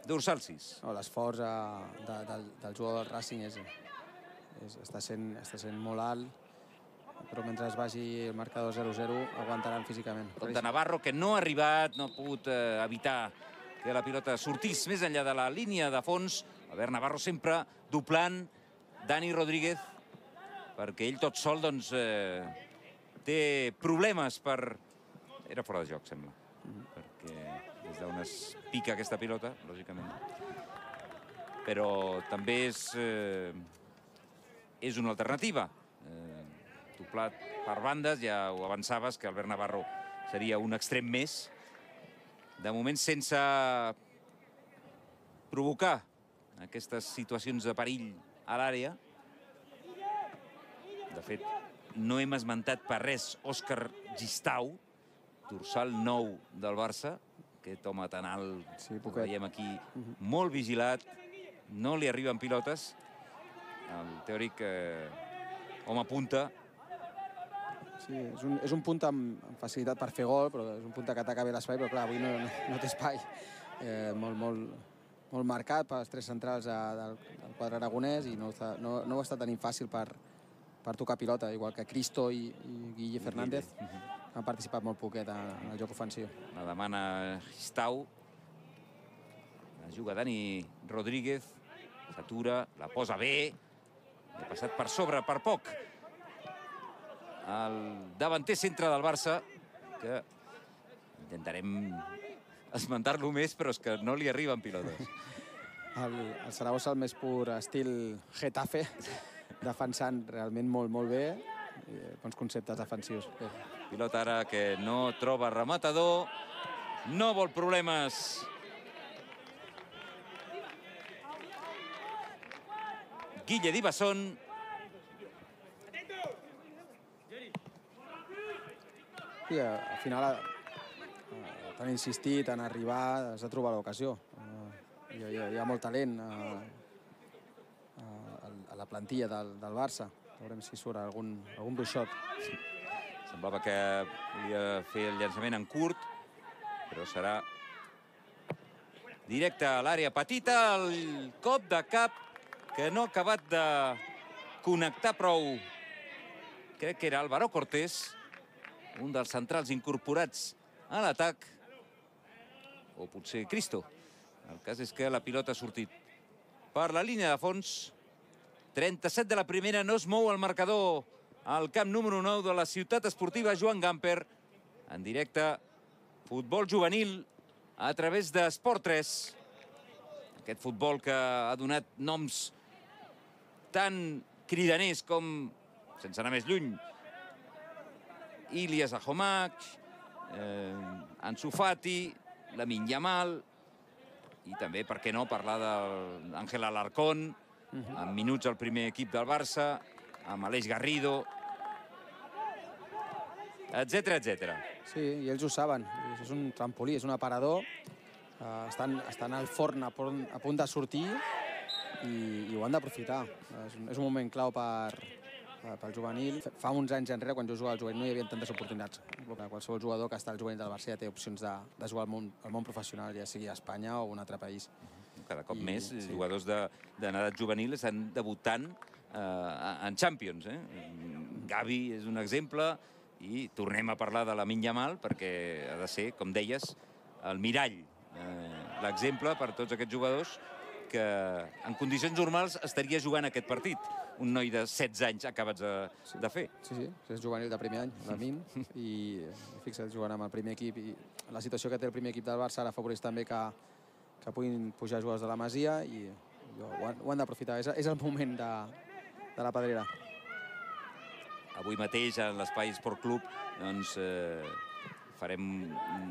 dorsal sis. No, l'esforç de, de, del, del jugador del Racing és, és, està, sent, està sent molt alt, però mentre es vagi el marcador zero zero aguantaran físicament. De Navarro, que no ha arribat, no ha pogut eh, evitar que la pilota sortís més enllà de la línia de fons. Albert Navarro sempre doblant Dani Rodríguez, perquè ell tot sol doncs, eh, té problemes per... Era fora de joc, sembla. Mm-hmm. Perquè des d'on es pica aquesta pilota, lògicament. Però també és... Eh, és una alternativa. Eh, doblat per bandes, ja ho avançaves, que Albert Navarro seria un extrem més. De moment sense provocar aquestes situacions de perill a l'àrea. De fet, no hem esmentat per res Òscar Gistau, dorsal nou del Barça, aquest home tan alt, Sí, el poquet. veiem aquí, molt vigilat, no li arriben pilotes. El teòric eh, home punta. Sí, és un, és un punt amb, amb facilitat per fer gol, però és un punt que ataca bé l'espai, però clar, avui no, no, no té espai. Eh, molt, molt, molt marcat pels tres centrals a, del, del quadre aragonès i no, està, no, no ho està tenint fàcil per, per tocar pilota, igual que Cristo i, i Guille Fernández. Han participat molt poquet en, en el joc ofensiu. La demana Gistau. La juga Dani Rodríguez. S'atura, la posa bé. Ha passat per sobre, per poc. El davanter centre del Barça, que intentarem esmentar-lo més, però és que no li arriben pilotes. El, el Saragossa, el més pur estil Getafe, defensant realment molt, molt bé. I bons conceptes defensius. Bé. Pilota ara que no troba rematador. No vol problemes. Guille Dibasson. I al final eh, t'han insistit en arribar, has de trobar l'ocasió. Eh, hi, ha, hi ha molt talent eh, a la plantilla del, del Barça. Veurem si surt algun, algun bruixot. Semblava que volia fer el llançament en curt, però serà directe a l'àrea petita. El cop de cap que no ha acabat de connectar prou. Crec que era Álvaro Cortés, un dels centrals incorporats a l'atac, o potser Cristo. El cas és que la pilota ha sortit per la línia de fons. trenta-set de la primera, no es mou el marcador al camp número nou de la ciutat esportiva Joan Gamper. En directe, futbol juvenil a través d'Esport tres. Aquest futbol que ha donat noms tan cridaners com, sense anar més lluny, Ilias Ahomac, eh, Ansu Fati, Lamine Yamal, i també, per què no, parlar d'Àngel Alarcón, amb minuts al primer equip del Barça, amb Aleix Garrido, etcètera, etcètera. Sí, i ells ho saben. És un trampolí, és un aparador. Uh, estan, estan al forn a punt, a punt de sortir i, i ho han d'aprofitar. És, un, és un moment clau per, pel juvenil. Fa uns anys enrere, quan jo jugava al juvenil, no hi havia tantes oportunitats. Qualsevol jugador que està al juvenil del Barça ja té opcions de, de jugar al món, al món professional, ja sigui a Espanya o un altre país. Cada cop I, més sí. jugadors de, de edat juvenil estan debutant eh, en Champions. Eh? Gavi és un exemple i tornem a parlar de Lamine Yamal perquè ha de ser, com deies, el mirall, eh, l'exemple per tots aquests jugadors que en condicions normals estaria jugant aquest partit. Un noi de setze anys acabats de, de fer. Sí, sí, és juvenil de primer any, Lamine, i fixa't, jugant amb el primer equip. I la situació que té el primer equip del Barça ara afavoreix també que, que puguin pujar jugadors de la Masia i ho han, ho han d'aprofitar. És, és el moment de, de la pedrera. Avui mateix, en l'Espai Esport Club, doncs, eh, farem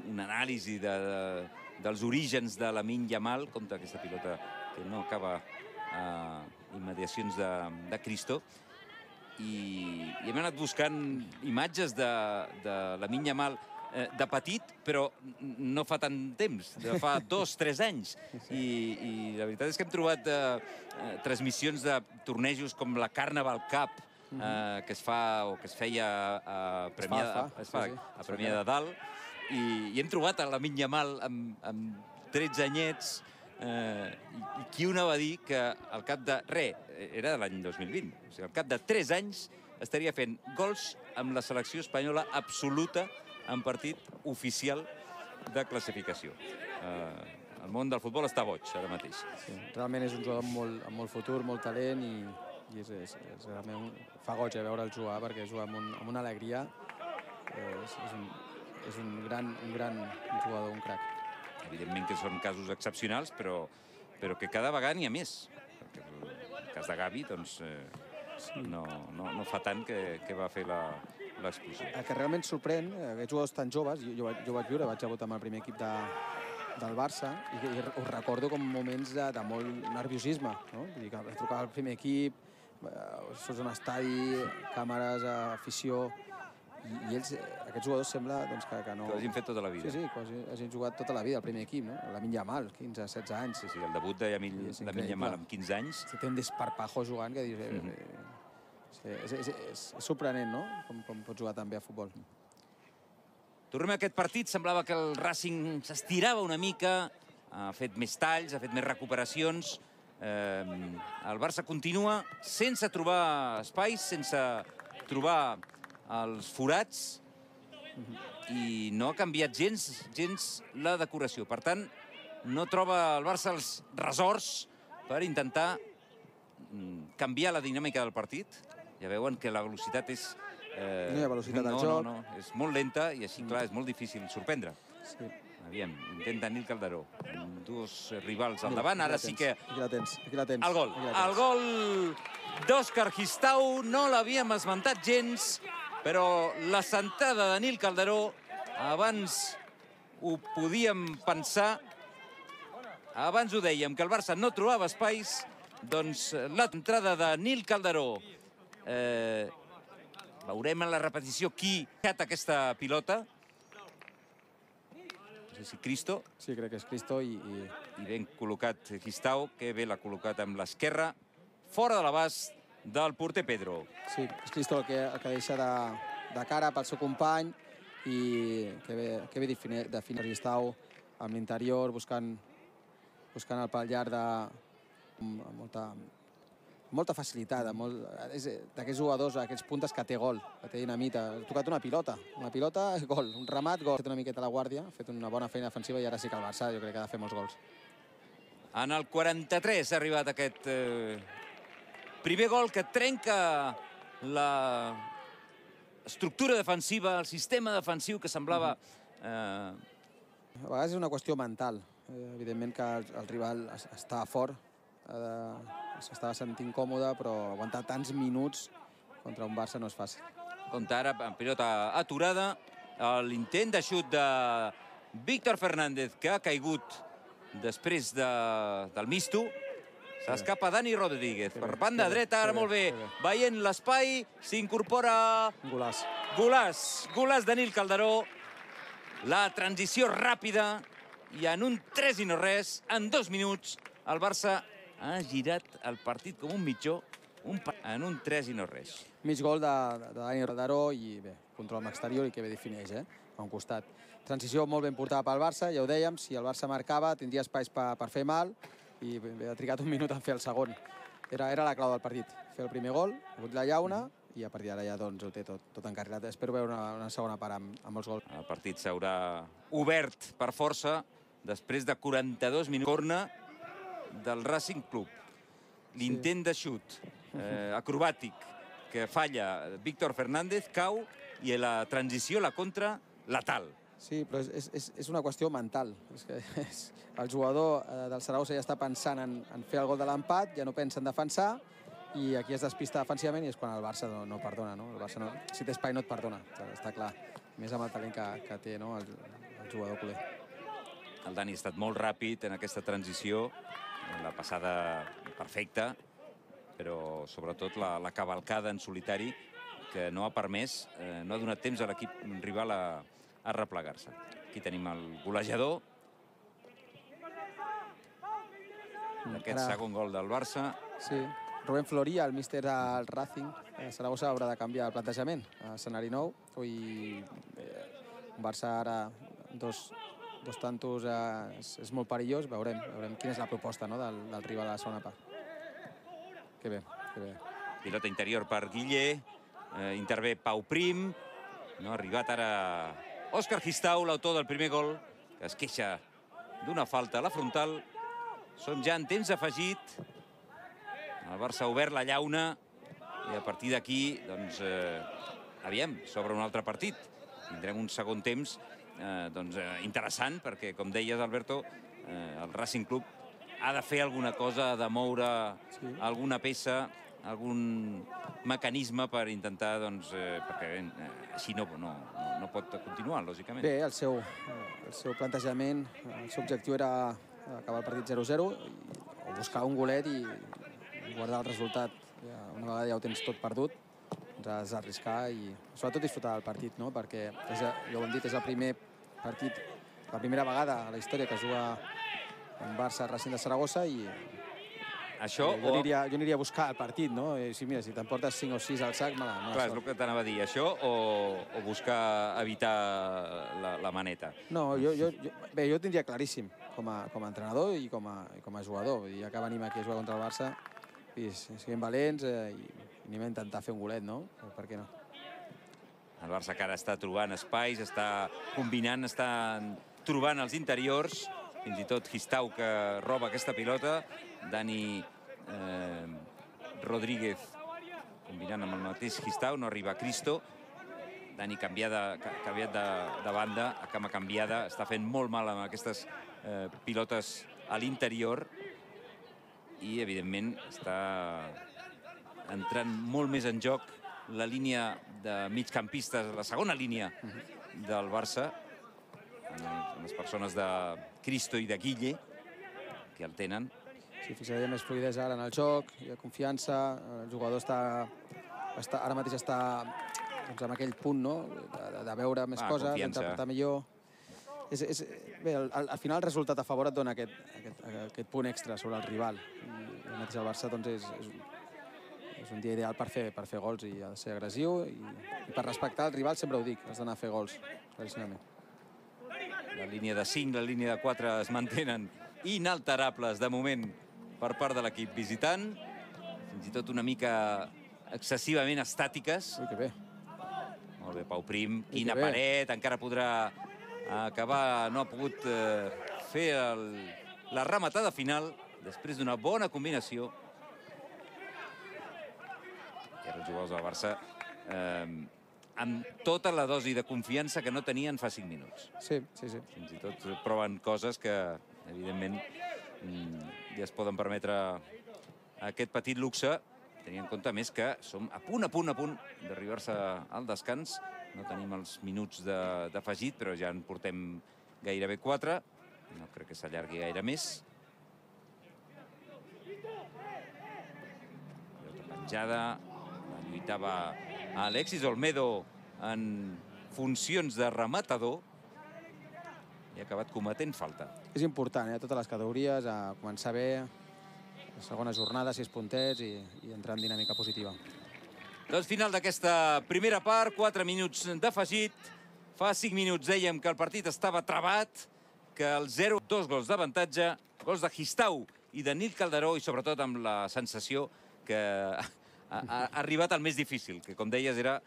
una anàlisi de, de, dels orígens de Lamine Yamal, com d'aquesta pilota que no acaba a immediacions de, de Cristo. I, i hem anat buscant imatges de, de Lamine Yamal eh, de petit, però no fa tant temps, de fa dos, tres anys. I, i la veritat és que hem trobat eh, transmissions de tornejos com la Carnaval Cup, eh, que es fa o que es feia a Premià, es fa, a, es fa, sí, sí. a Premià de Dalt, i, i hem trobat a Lamine Yamal amb, amb tretze anyets, eh, i, i qui una va dir que al cap de... Re, era de l'any dos mil vint, o sigui, al cap de tres anys estaria fent gols amb la selecció espanyola absoluta en partit oficial de classificació. Eh, el món del futbol està boig ara mateix. Sí, realment és un jugador amb molt, amb molt futur, molt talent i, i és, és, és realment fa goig a veure'l jugar perquè juga amb, un, amb una alegria. És, és, un, és un, gran, un gran jugador, un crac. Evidentment que són casos excepcionals, però, però que cada vegada n'hi ha més. Perquè el cas de Gavi, doncs, eh, no, no, no fa tant que, que va fer l'expulsió. El que realment sorprèn, aquests jugadors tan joves, jo, jo, jo vaig viure, vaig debutar amb el primer equip de, del Barça, i, i us recordo com moments de, de molt nerviosisme, no? Vull dir que trucar al primer equip, surts d'un estadi, càmeres, afició, i, i ells, aquests jugadors sembla doncs, que, que no... Que ho hagin fet tota la vida. Sí, sí, quasi hagin jugat tota la vida al primer equip, no? Lamine Yamal, quinze, setze anys. Sí, sí, el debut de Lamine Yamal amb quinze anys. Si té un desparpajo jugant que dius... Eh, eh, sí, és, és, és, és sorprenent, no? Com, com pot jugar tan bé a futbol. Tornem a aquest partit. Semblava que el Racing s'estirava una mica, ha fet més talls, ha fet més recuperacions. Eh, el Barça continua sense trobar espais, sense trobar els forats, i no ha canviat gens, gens la decoració. Per tant, no troba el Barça els ressorts per intentar canviar la dinàmica del partit. Ja veuen que la velocitat és... Eh, no hi ha velocitat al no, joc. No, no, és molt lenta i així, clar, és molt difícil sorprendre. Sí. Aviam, intenta Nil Calderó. Dos rivals al davant, ara sí que... Aquí la tens, aquí la tens. El gol. El gol d'Òscar Gistau no l'havíem esmentat gens, però la sentada de Nil Calderó, abans ho podíem pensar, abans ho dèiem, que el Barça no trobava espais, doncs l'entrada de Nil Calderó. Eh, veurem en la repetició qui ha fet aquesta pilota. No sé si Cristo. Sí, crec que és Cristo i... I, I ben col·locat Gistau, que bé l'ha col·locat amb l'esquerra, fora de l'abast del porter Pedro. Sí, és Cristo el que, el que deixa de, de cara pel seu company i que bé, que bé definir Gistau amb l'interior, buscant, buscant el pal llarg de amb molta, molta facilitat, molt, d'aquests jugadors, aquests puntes que té gol, que té dinamita. Ha tocat una pilota, una pilota, gol, un ramat, gol. Ha fet una miqueta la guàrdia, ha fet una bona feina defensiva i ara sí que el Barça jo crec que ha de fer molts gols. En el quaranta-tres ha arribat aquest eh, primer gol que trenca la estructura defensiva, el sistema defensiu que semblava... Eh... A vegades és una qüestió mental. Eh, evidentment que el, el rival està fort, s'estava sentint còmode, però aguantar tants minuts contra un Barça no és fàcil. Compte ara, en pilota aturada, l'intent de xut de Víctor Fernández, que ha caigut després de, del misto. S'escapa Dani Rodríguez per banda dreta, ara molt bé, veient l'espai, s'incorpora... Golàs. Golàs, Golàs de Nil Calderó. La transició ràpida i en un tres i no res, en dos minuts, el Barça ha girat el partit com un mitjó un en un tres i no res. Mig gol de, de Dani Calderó i bé, control amb exterior i que bé defineix, eh? A un costat. Transició molt ben portada pel Barça, ja ho dèiem, si el Barça marcava tindria espais per, per fer mal i bé, ha trigat un minut en fer el segon. Era, era la clau del partit, fer el primer gol, ha hagut la llauna i a partir d'ara ja doncs, ho té tot, tot encarrilat. Espero veure una, una segona part amb, amb els gols. El partit s'haurà obert per força després de quaranta-dos minuts. Corna del Racing Club. L'intent de xut eh, acrobàtic que falla Víctor Fernández, cau, i la transició, la contra, letal. Sí, però és, és, és una qüestió mental. És que és, el jugador eh, del Saragossa ja està pensant en, en fer el gol de l'empat, ja no pensa en defensar, i aquí es despista defensivament i és quan el Barça no, no perdona. No? El Barça no, si té espai no et perdona, està clar. Més amb el talent que, que té, no? el, el jugador culer. El Dani ha estat molt ràpid en aquesta transició, la passada perfecta, però sobretot la, la cavalcada en solitari que no ha permès, eh, no ha donat temps a l'equip rival a, a replegar-se. Aquí tenim el golejador d'aquest segon gol del Barça. Sí, Rubén Floría, el míster del Racing, a Saragossa haurà de canviar el plantejament. A escenari nou, i eh, Barça ara dos, dos tantos eh, és, és molt perillós. Veurem, veurem quina és la proposta, no, del, del rival a la segona part. Que bé, que bé. Pilota interior per Guillé, eh, intervé Pau Prim, no ha arribat ara Òscar Gistau, l'autor del primer gol, que es queixa d'una falta a la frontal. Som ja en temps afegit. El Barça ha obert la llauna i a partir d'aquí, doncs, eh, aviam, s'obre un altre partit. Tindrem un segon temps eh, doncs, eh, interessant, perquè, com deies, Alberto, eh, el Racing Club ha de fer alguna cosa, ha de moure sí. alguna peça algun mecanisme per intentar, doncs, perquè així no pot continuar, lògicament. Bé, el seu plantejament, el seu objectiu era acabar el partit zero zero o buscar un golet i guardar el resultat. Una vegada ja ho tens tot perdut, ens has d'arriscar i sobretot disfrutar del partit, perquè, ja ho hem dit, és el primer partit, la primera vegada a la història que es juga en Barça-Racing de Saragossa i jo aniria a buscar el partit, no? Mira, si t'emportes cinc o sis al sac, mala sort. Clar, és el que t'anava a dir, això o buscar evitar la maneta? No, bé, jo ho tindria claríssim com a entrenador i com a jugador. Ja que venim aquí a jugar contra el Barça, siguem valents i anem a intentar fer un golet, no? Per què no? El Barça que ara està trobant espais, està combinant, està trobant els interiors, fins i tot Gistau que roba aquesta pilota, Dani Rodríguez combinant amb el mateix Gistau, no arriba Cristo, Dani canviat de banda, a cama canviada, està fent molt mal amb aquestes pilotes a l'interior i, evidentment, està entrant molt més en joc la línia de migcampistes, la segona línia del Barça, les persones de Cristo i de Guille, que el tenen. Sí, fixaria més fluïdesa ara en el joc, hi ha confiança, el jugador està ara mateix està en aquell punt de veure més coses, d'interpretar millor. Bé, al final el resultat a favor et dona aquest punt extra sobre el rival. El mateix el Barça és un dia ideal per fer gols i ha de ser agressiu i per respectar el rival, sempre ho dic, has d'anar a fer gols, claríssimament. La línia de cinc, la línia de quatre es mantenen inalterables de moment per part de l'equip visitant, fins i tot una mica excessivament estàtiques. Ui, que bé. Molt bé, Pau Prim, quina paret, encara podrà acabar, no ha pogut fer la rematada final després d'una bona combinació. I ara els jugadors del Barça amb tota la dosi de confiança que no tenien fa cinc minuts. Sí, sí, sí. Fins i tot proven coses que, evidentment, ja es poden permetre aquest petit luxe, tenint en compte més que som a punt, a punt, a punt d'arribar-se al descans. No tenim els minuts d'afegit, però ja en portem gairebé quatre. No crec que s'allargui gaire més. Pilota penjada, la lluitava Alexis Olmedo en funcions de rematador i ha acabat cometent falta. És important, a totes les categories, a començar bé, la segona jornada, sis puntets i entrar en dinàmica positiva. Doncs final d'aquesta primera part, quatre minuts d'afegit. Fa cinc minuts dèiem que el partit estava trabat, que el zero, dos gols d'avantatge, gols de Gistau i de Nil Calderó i sobretot amb la sensació que ha arribat el més difícil, que com deies era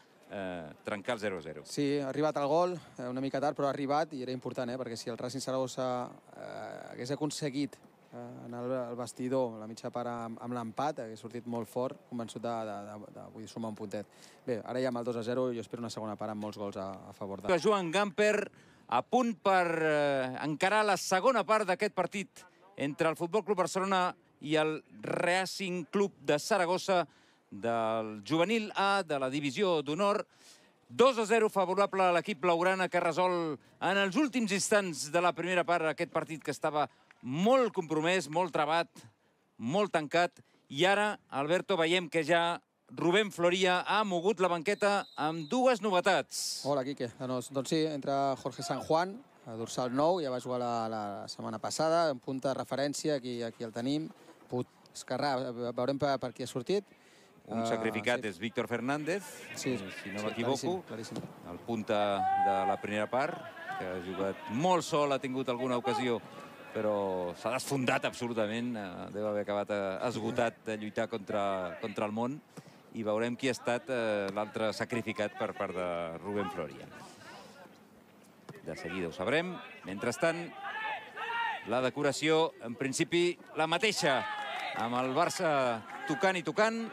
trencar el zero a zero. Sí, ha arribat el gol, una mica tard, però ha arribat i era important, perquè si el Racing Saragossa hagués aconseguit en el vestidor, la mitja part amb l'empat, hagués sortit molt fort, convençut de sumar un puntet. Bé, ara ja amb el dos a zero jo espero una segona part amb molts gols a favor de... Joan Gamper a punt per encarar la segona part d'aquest partit entre el Futbol Club Barcelona i el Racing Club de Saragossa, del juvenil A, de la divisió d'honor. dos a zero favorable a l'equip blaugrana, que resol en els últims instants de la primera part aquest partit que estava molt compromès, molt trabat, molt tancat. I ara, Alberto, veiem que ja Rubén Floria ha mogut la banqueta amb dues novetats. Hola, Quique. Doncs sí, entra Jorge San Juan, a dorsal nou, ja va jugar la setmana passada, en punta de referència, aquí el tenim. Esquerrà, veurem per qui ha sortit. Un sacrificat és Víctor Fernández, si no m'equivoco, el punta de la primera part, que ha jugat molt sol, ha tingut alguna ocasió, però s'ha desfondat absolutament, deu haver acabat esgotat de lluitar contra el món, i veurem qui ha estat l'altre sacrificat per part de Rubén Floria. De seguida ho sabrem. Mentrestant, la decoració, en principi, la mateixa, amb el Barça tocant i tocant,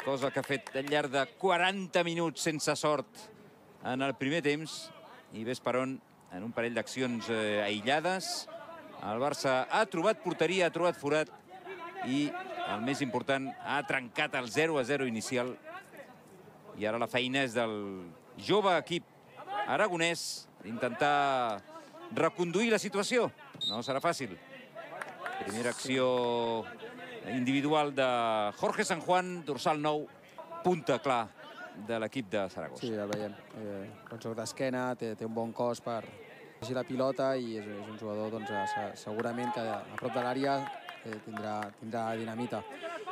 cosa que ha fet al llarg de quaranta minuts sense sort en el primer temps, i ves per on, en un parell d'accions aïllades, el Barça ha trobat porteria, ha trobat forat, i el més important, ha trencat el zero a zero inicial. I ara la feina és del jove equip aragonès d'intentar reconduir la situació. No serà fàcil. Primera acció individual de Jorge San Juan, dorsal nou, punta clar de l'equip de Saragossa. Sí, el veiem. Eh, un joc d'esquena, té, té un bon cos per llegir la pilota i és, és un jugador doncs, segurament que a prop de l'àrea eh, tindrà, tindrà dinamita.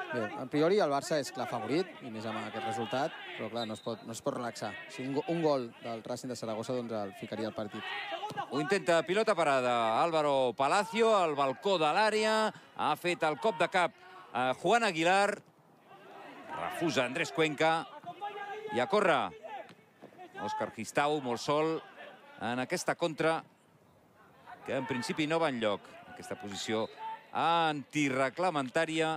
Bé, a priori el Barça és clar favorit, i més amb aquest resultat, però clar, no es pot, no es pot relaxar. Si un, un gol del Racing de Saragossa doncs el ficaria al partit. Ho intenta pilota parada Álvaro Palacio, al balcó de l'àrea, ha fet el cop de cap a Juan Aguilar, refusa Andrés Cuenca, i a córrer Òscar Gistau, molt sol, en aquesta contra, que en principi no va enlloc. Aquesta posició antireglamentària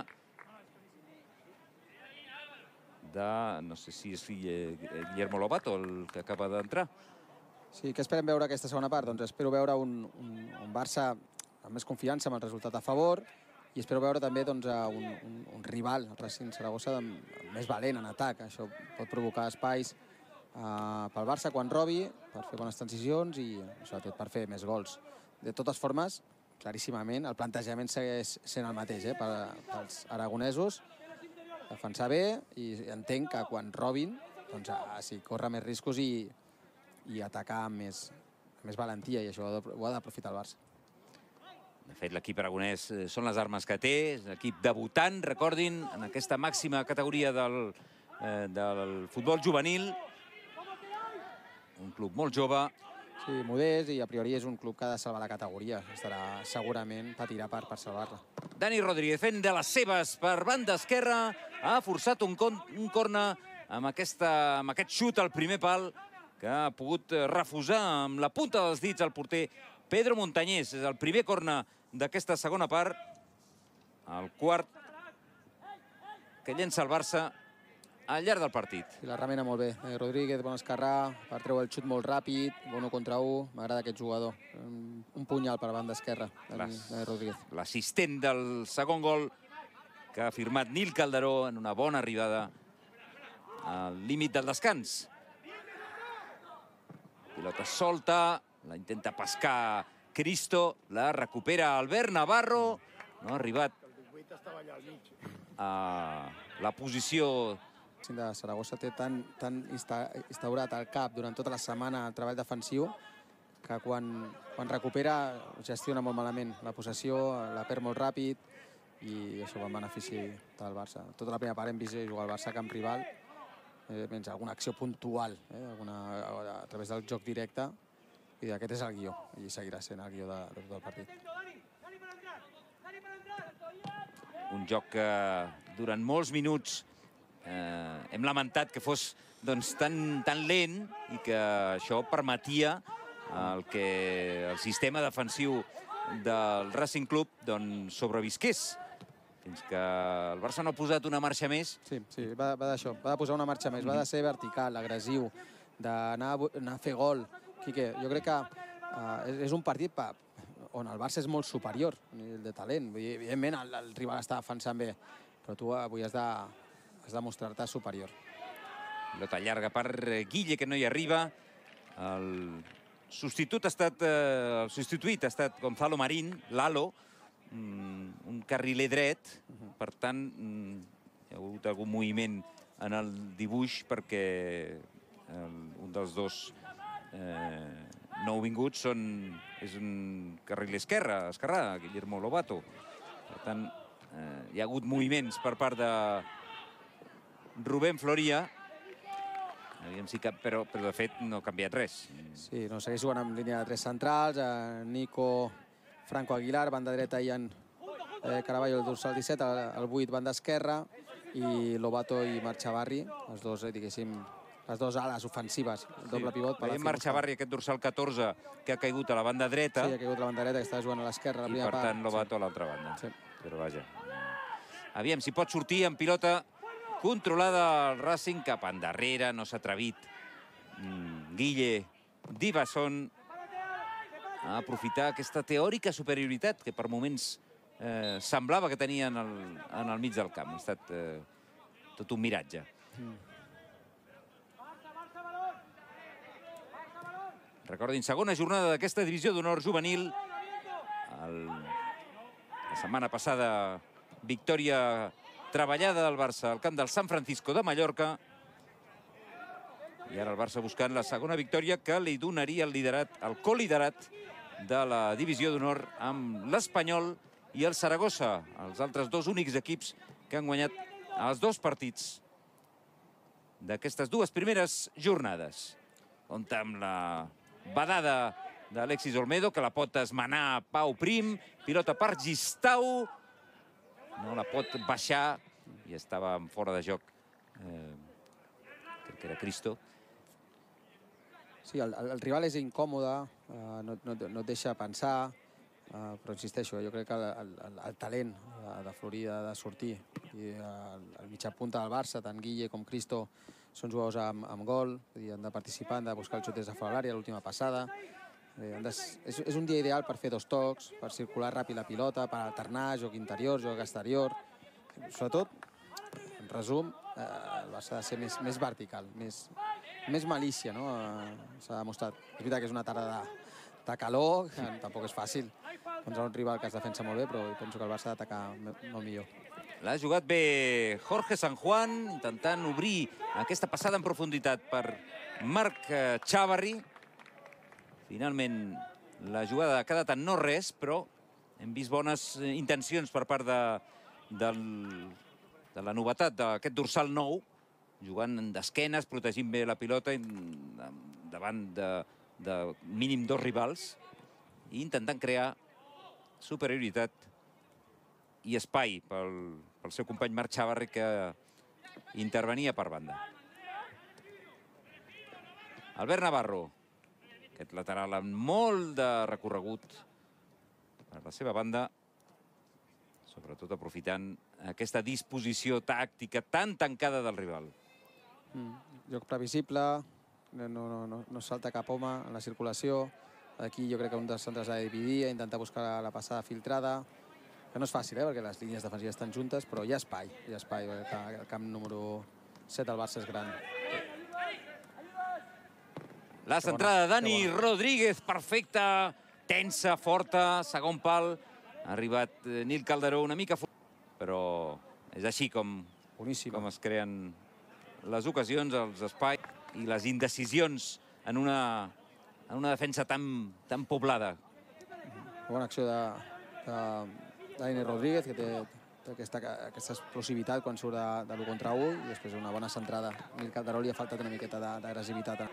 de, no sé si és Guillermo Lobato, el que acaba d'entrar. Sí, què esperem veure aquesta segona part? Doncs espero veure un, un, un Barça amb més confiança, amb el resultat a favor, i espero veure també doncs, un, un, un rival, el Racing Saragossa, més valent en atac. Això pot provocar espais uh, pel Barça quan robi, per fer bones transicions i sobretot per fer més gols. De totes formes, claríssimament, el plantejament segueix sent el mateix eh, per, pels aragonesos. Defensar bé i entenc que quan robin, doncs, uh, sí, córrer més riscos i, i atacar amb més, amb més valentia, i això ho ha d'aprofitar el Barça. De fet, l'equip aragonès són les armes que té, és l'equip debutant, recordin, en aquesta màxima categoria del, eh, del futbol juvenil. Un club molt jove. Sí, modest, i a priori és un club que ha de salvar la categoria. Estarà segurament, patirà per, per salvar-la. Dani Rodríguez fent de les seves per banda esquerra, ha forçat un, con, un corner amb, aquesta, amb aquest xut al primer pal, que ha pogut refusar amb la punta dels dits al porter Pedro Montañés. És el primer corner d'aquesta segona part. El quart que llença el Barça al llarg del partit. I la remena molt bé. Eh, Rodríguez, bon esquerrà, per treure el xut molt ràpid, bon un contra un. M'agrada aquest jugador. Un, un punyal per banda esquerra, Dani Rodríguez. L'assistent del segon gol que ha firmat Nil Calderó en una bona arribada al límit del descans. Pilota solta, la intenta pescar Cristo, la recupera Albert Navarro, no ha arribat a la posició. El de Saragossa té tan, tan instaurat al cap durant tota la setmana el treball defensiu que quan, quan recupera gestiona molt malament la possessió, la perd molt ràpid i això va en benefici del Barça. Tota la primera part hem vist jugar al Barça a camp rival, eh, menys alguna acció puntual eh, alguna, a través del joc directe, i aquest és el guió, i seguirà sent el guió de, de tot el partit. Un joc que durant molts minuts eh, hem lamentat que fos doncs, tan, tan lent i que això permetia el que el sistema defensiu del Racing Club doncs, sobrevisqués. Fins que el Barça no ha posat una marxa més. Sí, sí, va, va d'això, va de posar una marxa més, va de ser vertical, agressiu, d'anar a fer gol. Quique, jo crec que uh, és un partit pa, on el Barça és molt superior a nivell de talent. Evidentment, el, el rival està defensant bé, però tu avui has de, has de mostrar-te superior. Pilota llarga per Guille, que no hi arriba. El substitut ha estat, eh, el substituït ha estat Gonzalo Marín, Lalo, un carriler dret, per tant, hi ha hagut algun moviment en el dibuix perquè el, un dels dos eh, nouvinguts són, és un carriler esquerre, esquerrà, Guillermo Lobato. Per tant, eh, hi ha hagut moviments per part de Rubén Floria, aviam si cap, però, però de fet no ha canviat res. Sí, no, segueix jugant amb línia de tres centrals, eh, Nico, Franco Aguilar, banda dreta, Ian eh, Caraballo, el dorsal disset, el, el vuit, banda esquerra, i Lobato i Marchavarri, els dos, eh, diguéssim, les dues ales ofensives, el doble pivot. Veiem Marchavarri, aquest dorsal catorze, que ha caigut a la banda dreta. Sí, ha caigut a la banda dreta, que està jugant a l'esquerra. I per tant Lobato a l'altra banda. Sí. Però vaja. Aviam si pot sortir en pilota controlada el Racing cap endarrere, no s'ha atrevit. Guille Divason a aprofitar aquesta teòrica superioritat que per moments eh, semblava que tenia en el, en el mig del camp. Ha estat eh, tot un miratge. Mm. Recordin, segona jornada d'aquesta divisió d'honor juvenil. El... La setmana passada, victòria treballada del Barça al camp del San Francisco de Mallorca. I ara el Barça buscant la segona victòria que li donaria el liderat, el coliderat de la divisió d'honor amb l'Espanyol i el Saragossa, els altres dos únics equips que han guanyat els dos partits d'aquestes dues primeres jornades. Compte amb la badada d'Alexis Olmedo, que la pot esmenar Pau Prim, pilota per Gistau, no la pot baixar i estava fora de joc, eh, crec que era Cristo. Sí, el, el rival és incòmode, eh, no, no, no et deixa pensar, eh, però insisteixo, jo crec que el, el, el talent de Florida ha de sortir. I el, el mitjà punta del Barça, tant Guille com Cristo, són jugadors amb, amb gol, dir, han de participar, han de buscar els xutes de fora de l'àrea l'última passada. Eh, de, és, és un dia ideal per fer dos tocs, per circular ràpid la pilota, per alternar, joc interior, joc exterior. Sobretot, en resum, eh, el Barça ha de ser més, més vertical, més, més malícia, no? Eh, s'ha demostrat. És veritat que és una tarda de, de calor, que tampoc és fàcil contra un rival que es defensa molt bé, però penso que el Barça ha d'atacar molt millor. L'ha jugat bé Jorge San Juan, intentant obrir aquesta passada en profunditat per Marc Chavarri. Finalment, la jugada ha quedat en no res, però hem vist bones intencions per part de, del, de la novetat d'aquest dorsal nou, jugant d'esquenes, protegint bé la pilota davant de, de mínim dos rivals i intentant crear superioritat i espai pel, pel seu company Marc Chavarri, que intervenia per banda. Albert Navarro, aquest lateral amb molt de recorregut per la seva banda, sobretot aprofitant aquesta disposició tàctica tan tancada del rival. Mm, joc previsible, no, no, no, no salta cap home en la circulació. Aquí jo crec que un dels centres ha de dividir, intentar buscar la, la passada filtrada, que no és fàcil, eh, perquè les línies defensives estan juntes, però hi ha espai, hi ha espai, el camp número set del Barça és gran. La centrada de Dani Rodríguez, perfecta, tensa, forta, segon pal. Ha arribat Nil Calderó una mica fort, però és així com, com es creen les ocasions, els espais i les indecisions en una, en una defensa tan, tan poblada. Bona acció de, de Dani Rodríguez, que té, té aquesta, aquesta explosivitat quan surt de, de l'u contra u, i després una bona centrada. Nil Calderó li ha faltat una miqueta d'agressivitat.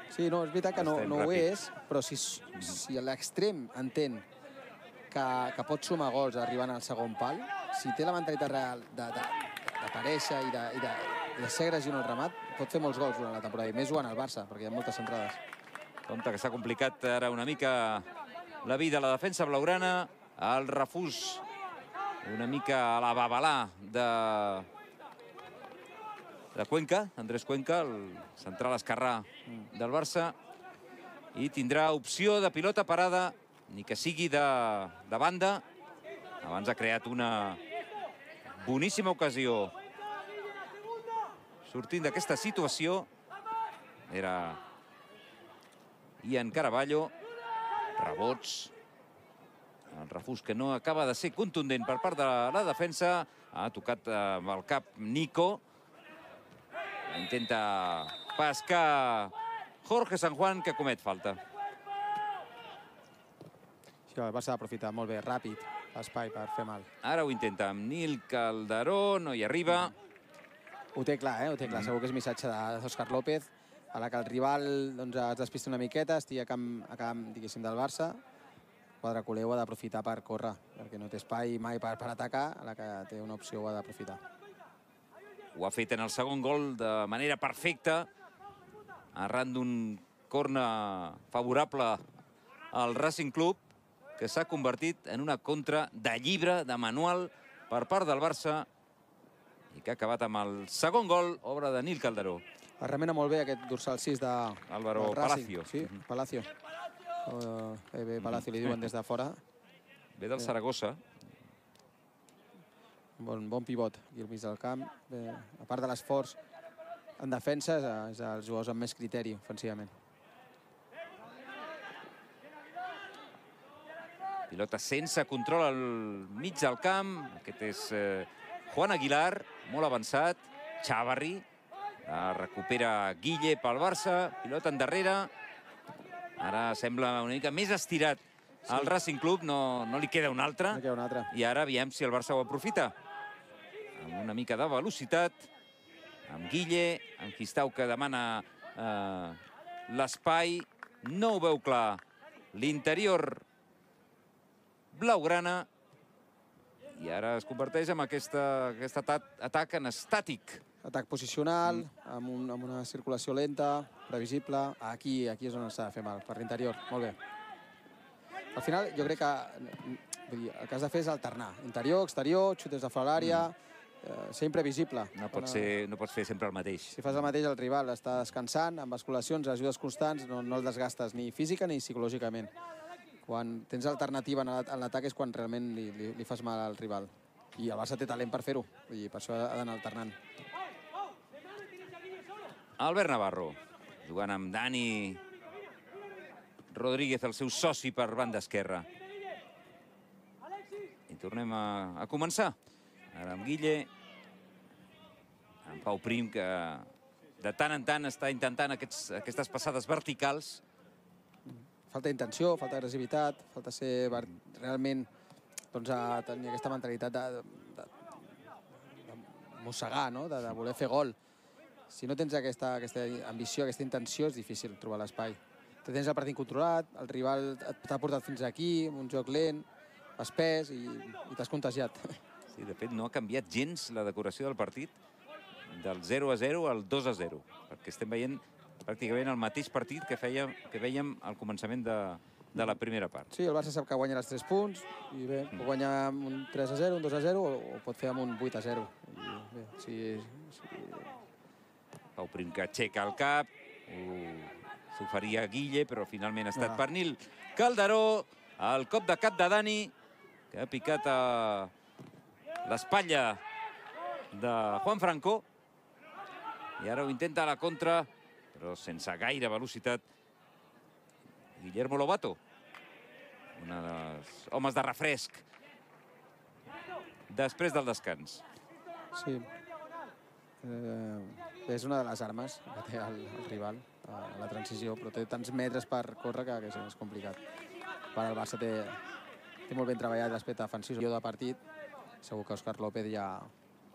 Sí, no, és veritat que no, no ho és, però si, si l'extrem entén que, que pot sumar gols arribant al segon pal, si té la mentalitat real d'aparèixer i, de, i, de, i de ser agressiu en el remat, pot fer molts gols durant la temporada, i més jugant al Barça, perquè hi ha moltes centrades. Compte que s'ha complicat ara una mica la vida a la defensa blaugrana, el refús una mica a la babalà de... de Cuenca, Andrés Cuenca, el central esquerrà del Barça, i tindrà opció de pilota parada, ni que sigui de, de banda. Abans ha creat una boníssima ocasió. Sortint d'aquesta situació, era Ian Caraballo, rebots, el refús que no acaba de ser contundent per part de la defensa, ha tocat amb el cap Nico, intenta pescar Jorge San Juan, que comet falta. Sí, el Barça ha d'aprofitar molt bé, ràpid, l'espai per fer mal. Ara ho intenta amb Nil Calderó, no hi arriba. Ho té clar, eh? Ho té clar. Segur que és missatge d'Òscar López, a la que el rival doncs, es despista una miqueta, estigui a camp, a camp diguéssim, del Barça. El quadre culé ho ha d'aprofitar per córrer, perquè no té espai mai per, per atacar, a la que té una opció ho ha d'aprofitar. Ho ha fet en el segon gol de manera perfecta, arran d'un corner favorable al Racing Club, que s'ha convertit en una contra de llibre, de manual, per part del Barça, i que ha acabat amb el segon gol, obra de Nil Calderó. Es remena molt bé aquest dorsal sis de Álvaro Palacio. Sí, Palacio. Uh, bé, bé, Palacio li diuen des de fora. Ve del Saragossa. Bon, bon pivot aquí al mig del camp. Bé, a part de l'esforç en defensa, és els jugadors amb més criteri ofensivament. Pilota sense control al mig del camp. Aquest és eh, Juan Aguilar, molt avançat. Chavarri. La recupera Guille pel Barça. Pilota endarrere. Ara sembla una mica més estirat. Al Racing Club no, no li queda un altre. No queda un altre. I ara aviam si el Barça ho aprofita. Amb una mica de velocitat. Amb Guille, amb Quistau, que demana eh, l'espai. No ho veu clar. L'interior blaugrana. I ara es converteix en aquesta, aquest atac en estàtic. Atac posicional, amb, un, amb una circulació lenta, previsible. Aquí, aquí és on s'ha de fer mal, per l'interior. Molt bé. Al final, jo crec que vull dir, el que has de fer és alternar. Interior, exterior, xutes de fora de l'àrea, eh, ser imprevisible. No pots, ser, no pots fer sempre el mateix. Si fas el mateix, el rival està descansant, amb basculacions, ajudes constants, no, no el desgastes ni física ni psicològicament. Quan tens alternativa en l'atac és quan realment li, li, li fas mal al rival. I el Barça té talent per fer-ho, i per això ha d'anar alternant. Albert Navarro, jugant amb Dani Rodríguez, el seu soci per banda esquerra. I tornem a, a començar. Ara amb Guille, amb Pau Prim, que de tant en tant està intentant aquests, aquestes passades verticals. Falta intenció, falta agressivitat, falta ser realment, doncs, a tenir aquesta mentalitat de, de, de mossegar, no? de, de voler fer gol. Si no tens aquesta, aquesta ambició, aquesta intenció, és difícil trobar l'espai. Te tens el partit controlat, el rival t'ha portat fins aquí, amb un joc lent, espès, i, i t'has contagiat. Sí, de fet, no ha canviat gens la decoració del partit del zero a zero al dos a zero, perquè estem veient pràcticament el mateix partit que, feia, que vèiem al començament de, de la primera part. Sí, el Barça sap que guanya els tres punts, i bé, pot guanyar amb un tres a zero, un dos a zero, o, o pot fer amb un vuit a zero. I bé, si... si... Pau Prim que aixeca el cap, s'oferia Guille, però finalment ha estat per Nil Calderó. El cop de cap de Dani, que ha picat a l'espatlla de Juan Franco. I ara ho intenta a la contra, però sense gaire velocitat. Guillermo Lobato, un dels homes de refresc després del descans. Sí. Eh, és una de les armes que té el, el rival a la transició, però té tants metres per córrer que, que és complicat. Per el Barça té, té molt ben treballat l'aspecte defensiu de partit. Segur que Òscar López ja,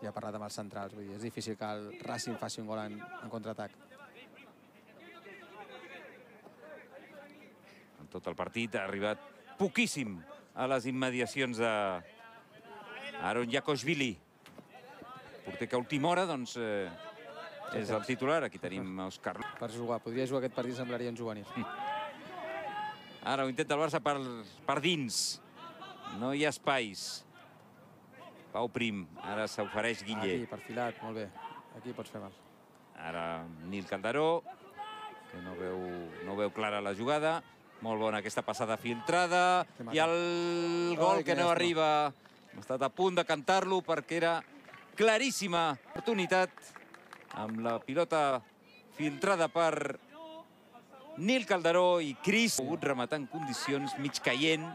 ja ha parlat amb els centrals. Vull dir, és difícil que el Racing faci un gol en, en contraatac. En tot el partit ha arribat poquíssim a les immediacions de Aron Jakoshvili. Porter que a última hora, doncs, eh, és el titular. Aquí tenim Òscar. Per jugar, podria jugar aquest partit, semblaria un juvenil. Ara ho intenta el Barça per, per dins. No hi ha espais. Pau Prim, ara s'ofereix Guille. Aquí, perfilat, molt bé. Aquí pots fer mal. Ara Nil Calderó, que no veu, no veu clara la jugada. Molt bona aquesta passada filtrada. I el gol que no arriba. Hem estat a punt de cantar-lo perquè era claríssima oportunitat amb la pilota filtrada per Nil Calderó i Cris. Ha pogut rematar en condicions mig caient,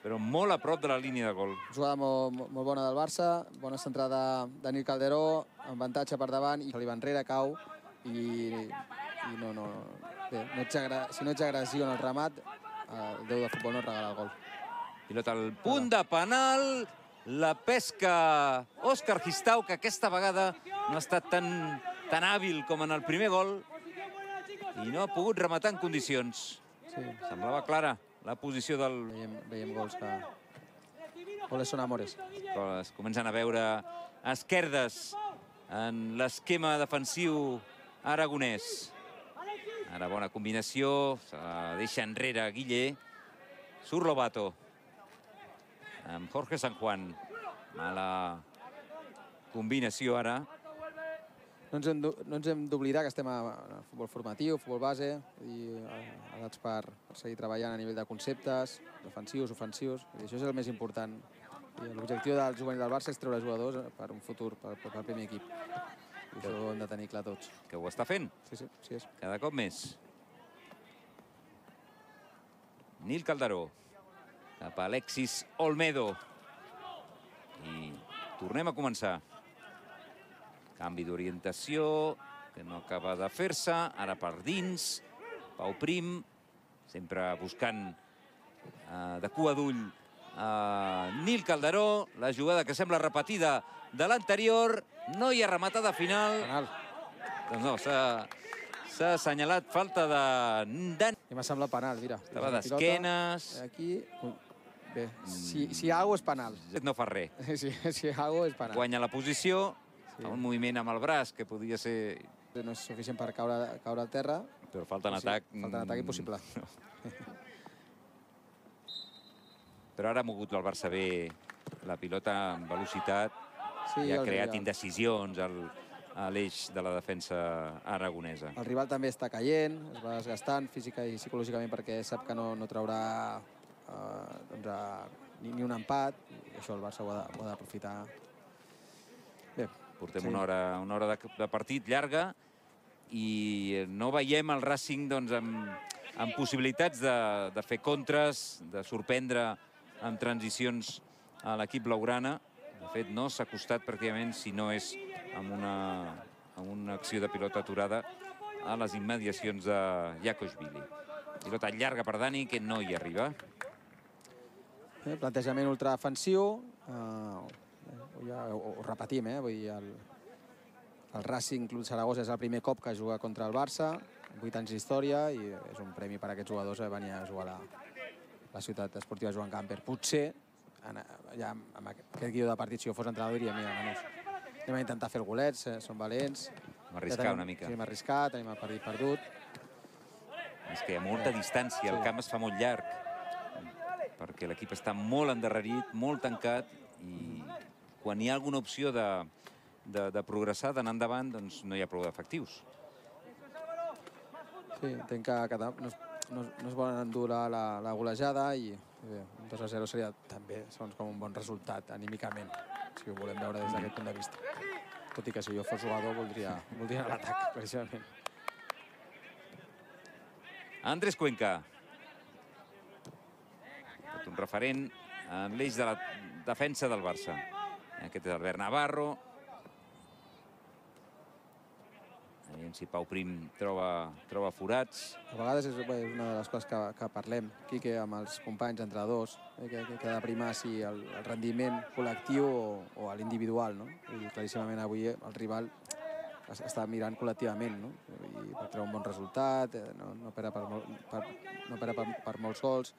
però molt a prop de la línia de gol. Jugada molt, molt bona del Barça, bona centrada de Nil Calderó, amb avantatge per davant, i se li va enrere, cau, i, i no, no, bé, no ets si no ets agressiu en el remat, el déu de futbol no et regala el gol. Pilota al punt de penal, la pesca Òscar Quistau, que aquesta vegada no ha estat tan, tan hàbil com en el primer gol i no ha pogut rematar en condicions. Sí. Semblava clara la posició del... Veiem, veiem gols que... Goles són amores. Es comencen a veure esquerdes en l'esquema defensiu aragonès. Ara bona combinació, se la deixa enrere Guille. Surt Lobato amb Jorge San Juan. Mala combinació ara. No ens hem, no ens hem d'oblidar que estem a, a futbol formatiu, futbol base, i edats per, per seguir treballant a nivell de conceptes, defensius, ofensius. I això és el més important I l'objectiu del juvenil del Barça és treure jugadors per un futur, per al primer equip. I això ho hem de tenir clar tots. Que ho està fent. Sí, sí, sí és. Cada cop més. Nil Calderó. Cap a Alexis Olmedo. I tornem a començar. Canvi d'orientació, que no acaba de fer-se. Ara per dins. Pau Prim, sempre buscant eh, de cua d'ull a Nil Calderó. La jugada que sembla repetida de l'anterior. No hi ha rematada final. Penal. Doncs no, s'ha assenyalat falta de... I m'ha semblat penal, mira. Estava d'esquenes. Aquí... Bé, si, si hi ha alguna cosa és penal. No fa res. Si, si hi ha alguna cosa és penal. Guanya la posició, sí. Fa un moviment amb el braç que podia ser... No és suficient per caure, caure al terra. Però falta en sí, atac... Falta en atac impossible. No. Però ara ha mogut el Barça bé la pilota amb velocitat sí, i ha creat el... indecisions al, a l'eix de la defensa aragonesa. El rival també està caient, es va desgastant física i psicològicament perquè sap que no, no traurà eh, doncs, a, ni, ni un empat, i això el Barça ho ha d'aprofitar. Bé, portem sí. una hora, una hora de, de partit llarga i no veiem el Racing doncs, amb, amb possibilitats de, de fer contres, de sorprendre amb transicions a l'equip blaugrana. De fet, no s'ha costat pràcticament, si no és amb una, amb una acció de pilota aturada, a les immediacions de Jakošvili. Pilota llarga per Dani, que no hi arriba. Bé, plantejament ultradefensiu. Uh, ja ho, ho repetim, eh? Vull dir, el, el Racing Club Saragossa és el primer cop que juga contra el Barça, vuit anys d'història, i és un premi per a aquests jugadors a venir a jugar a la, la ciutat esportiva Joan Gamper. Potser, en, ja amb aquest guió de partit, si jo fos entrenador, diria, mira, menys, anem a intentar fer el golet, eh, són valents. Hem arriscat una mica. Sí, hem arriscat, tenim el partit perdut. És que hi ha molta distància, el camp es fa molt llarg, perquè l'equip està molt endarrerit, molt tancat, i quan hi ha alguna opció de, de, de progressar, d'anar endavant, doncs no hi ha prou d'efectius. Sí, entenc que, que no, no, no es volen endur la, la, la golejada i bé, un dos a zero seria també segons com un bon resultat anímicament, si ho volem veure des d'aquest punt de vista. Tot i que si jo fos jugador voldria, voldria anar a l'atac, precisament. Andrés Cuenca. Un referent en l'eix de la defensa del Barça. Aquest és Albert Navarro. Aviam si Pau Prim troba, troba forats. A vegades és, bé, és una de les coses que, que parlem, Quique, amb els companys, entrenadors, eh, que, que ha de primar si el, el rendiment col·lectiu o, o l'individual, no? I claríssimament avui el rival està mirant col·lectivament, no? I per treure un bon resultat, eh, no, no perd per, per, no per, per, per molts gols,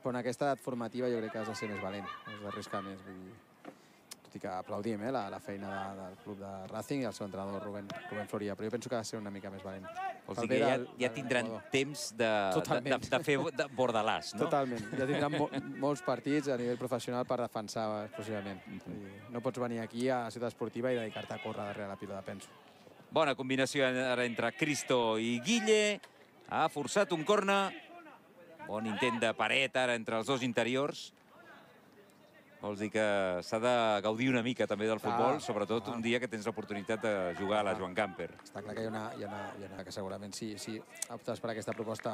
però en aquesta edat formativa jo crec que has de ser més valent, has d'arriscar més. Vull dir, tot i que aplaudim eh, la, la feina de, del club de Racing i el seu entrenador Rubén, Rubén Floria, però jo penso que ha de ser una mica més valent. Vols dir que ja, ja tindran temps de, de, de, de fer de bordalàs, no? Totalment. Ja tindran mo molts partits a nivell professional per defensar exclusivament. Mm-hmm. No pots venir aquí a la ciutat esportiva i dedicar-te a córrer darrere la pilota, penso. Bona combinació ara entre Cristo i Guille. Ha forçat un corna. Bon intent de paret ara entre els dos interiors. Vols dir que s'ha de gaudir una mica també del futbol, ah, sobretot ah. un dia que tens l'oportunitat de jugar a la Joan Gamper. Està clar que hi ha una, hi ha una, hi ha una que segurament si, si optes per aquesta proposta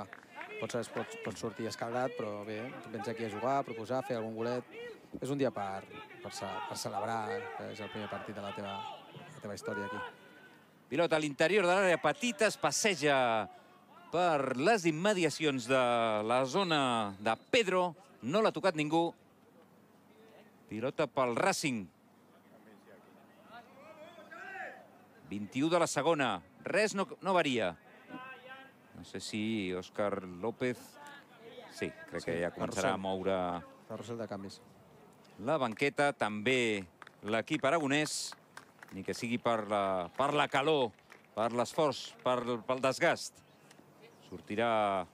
pots, pots, pots sortir escaldat, però bé, vens aquí a jugar, a proposar, fer algun golet. És un dia per, per, per celebrar que és el primer partit de la teva, la teva història aquí. Pilota a l'interior de l'àrea petita, es passeja per les immediacions de la zona de Pedro. No l'ha tocat ningú. Pilota pel Racing. vint-i-u de la segona. Res no, no varia. No sé si Òscar López... Sí, crec que ja començarà a moure... Carrusel de canvis. La banqueta, també l'equip aragonès, ni que sigui per la, per la calor, per l'esforç, pel desgast. Sortirà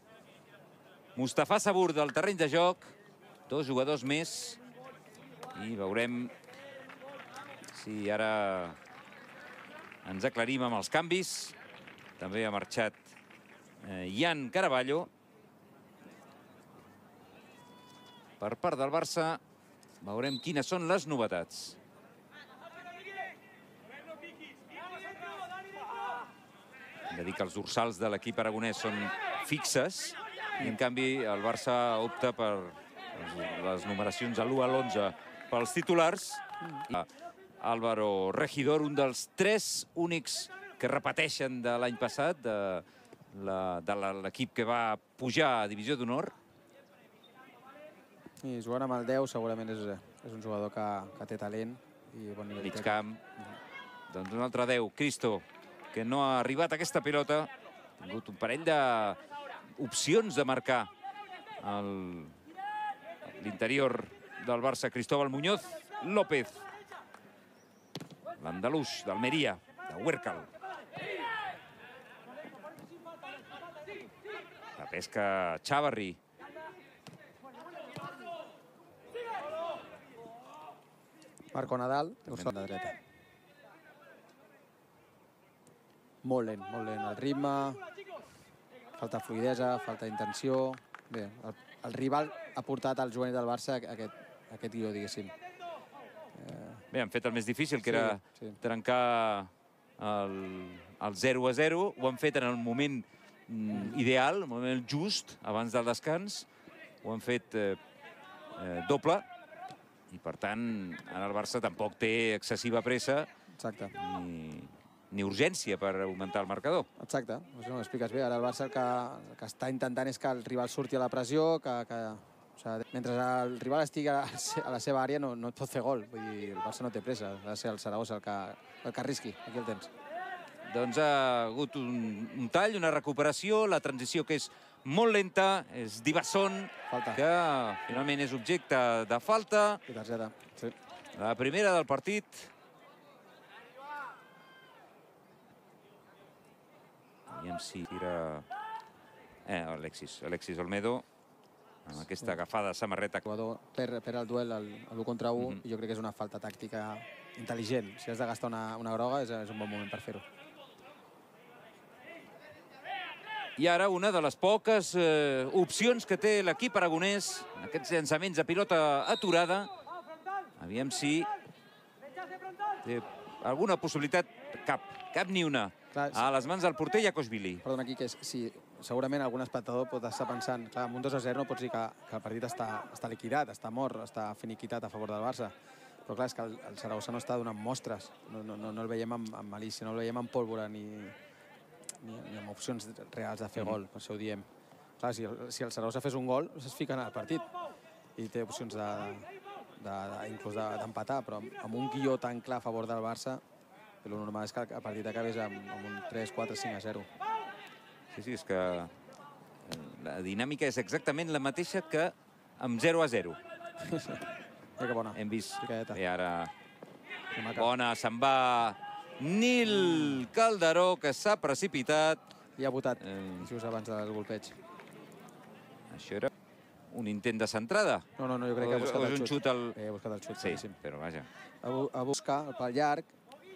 Mustafa Sabur del terreny de joc. Dos jugadors més. I veurem si ara ens aclarim amb els canvis. També ha marxat Ian Caraballo. Per part del Barça, Veurem quines són les novetats. Hem de dir que els dorsals de l'equip aragonès són fixes i, en canvi, el Barça opta per les numeracions de l'u a l'onze pels titulars. Álvaro Regidor, un dels tres únics que repeteixen de l'any passat, de l'equip que va pujar a Divisió d'Honor. I jugant amb el deu segurament és un jugador que té talent i bon nivell. Mig camp. Doncs un altre deu, Cristo, que no ha arribat a aquesta pilota. Ha tingut un parell d'opcions de marcar l'interior del Barça. Cristóbal Muñoz López, l'andalús d'Almeria, de Huércal. La pesca Chavarri. Marco Nadal, de dreta. Molt lent, molt lent el ritme, falta fluidesa, falta intenció. Bé, el rival ha portat al juvenil del Barça aquest guió, diguéssim. Bé, han fet el més difícil, que era trencar el zero a zero. Ho han fet en el moment ideal, el moment just, abans del descans. Ho han fet doble. I, per tant, ara el Barça tampoc té excessiva pressa ni urgència per augmentar el marcador. Exacte, ho expliques bé. Ara el Barça el que està intentant és que el rival surti a la pressió, que mentre el rival estigui a la seva àrea no et pot fer gol. Vull dir, el Barça no té pressa, ha de ser el Saragossa el que arrisqui. Aquí el tens. Doncs ha hagut un tall, una recuperació, la transició que és molt lenta, és Dibasson, que finalment és objecte de falta. I targeta, sí. La primera del partit. Aviam si tira... Eh, Alexis, Alexis Olmedo, amb aquesta agafada de samarreta. El jugador perd el duel a l'u contra u i jo crec que és una falta tàctica intel·ligent. Si has de gastar una groga és un bon moment per fer-ho. I ara una de les poques opcions que té l'equip aragonès, aquests llançaments de pilota aturada. Aviam si té alguna possibilitat. Cap, cap ni una. A les mans del porter Iakosvili. Perdona, aquí, que segurament algun espectador pot estar pensant, clar, amb un dos a zero no pots dir que el partit està liquidat, està mort, està finiquitat a favor del Barça. Però clar, és que el Saragossa no està donant mostres. No el veiem amb malícia, no el veiem amb pólvora ni amb opcions reals de fer gol, per això ho diem. Clar, si el Saragossa fes un gol, es fica en el partit i té opcions inclús d'empatar, però amb un guió tan clar a favor del Barça, el normal és que el partit acabés amb un tres, quatre, cinc a zero. Sí, sí, és que la dinàmica és exactament la mateixa que amb zero a zero. Que bona. Hem vist. I ara bona, se'n va Nil Calderó, que s'ha precipitat. I ha votat just abans del golpeig. Això era un intent de centrada? No, no, jo crec que ha buscat el xut. Ha buscat el xut, sí, però vaja. Ha buscat el pal llarg,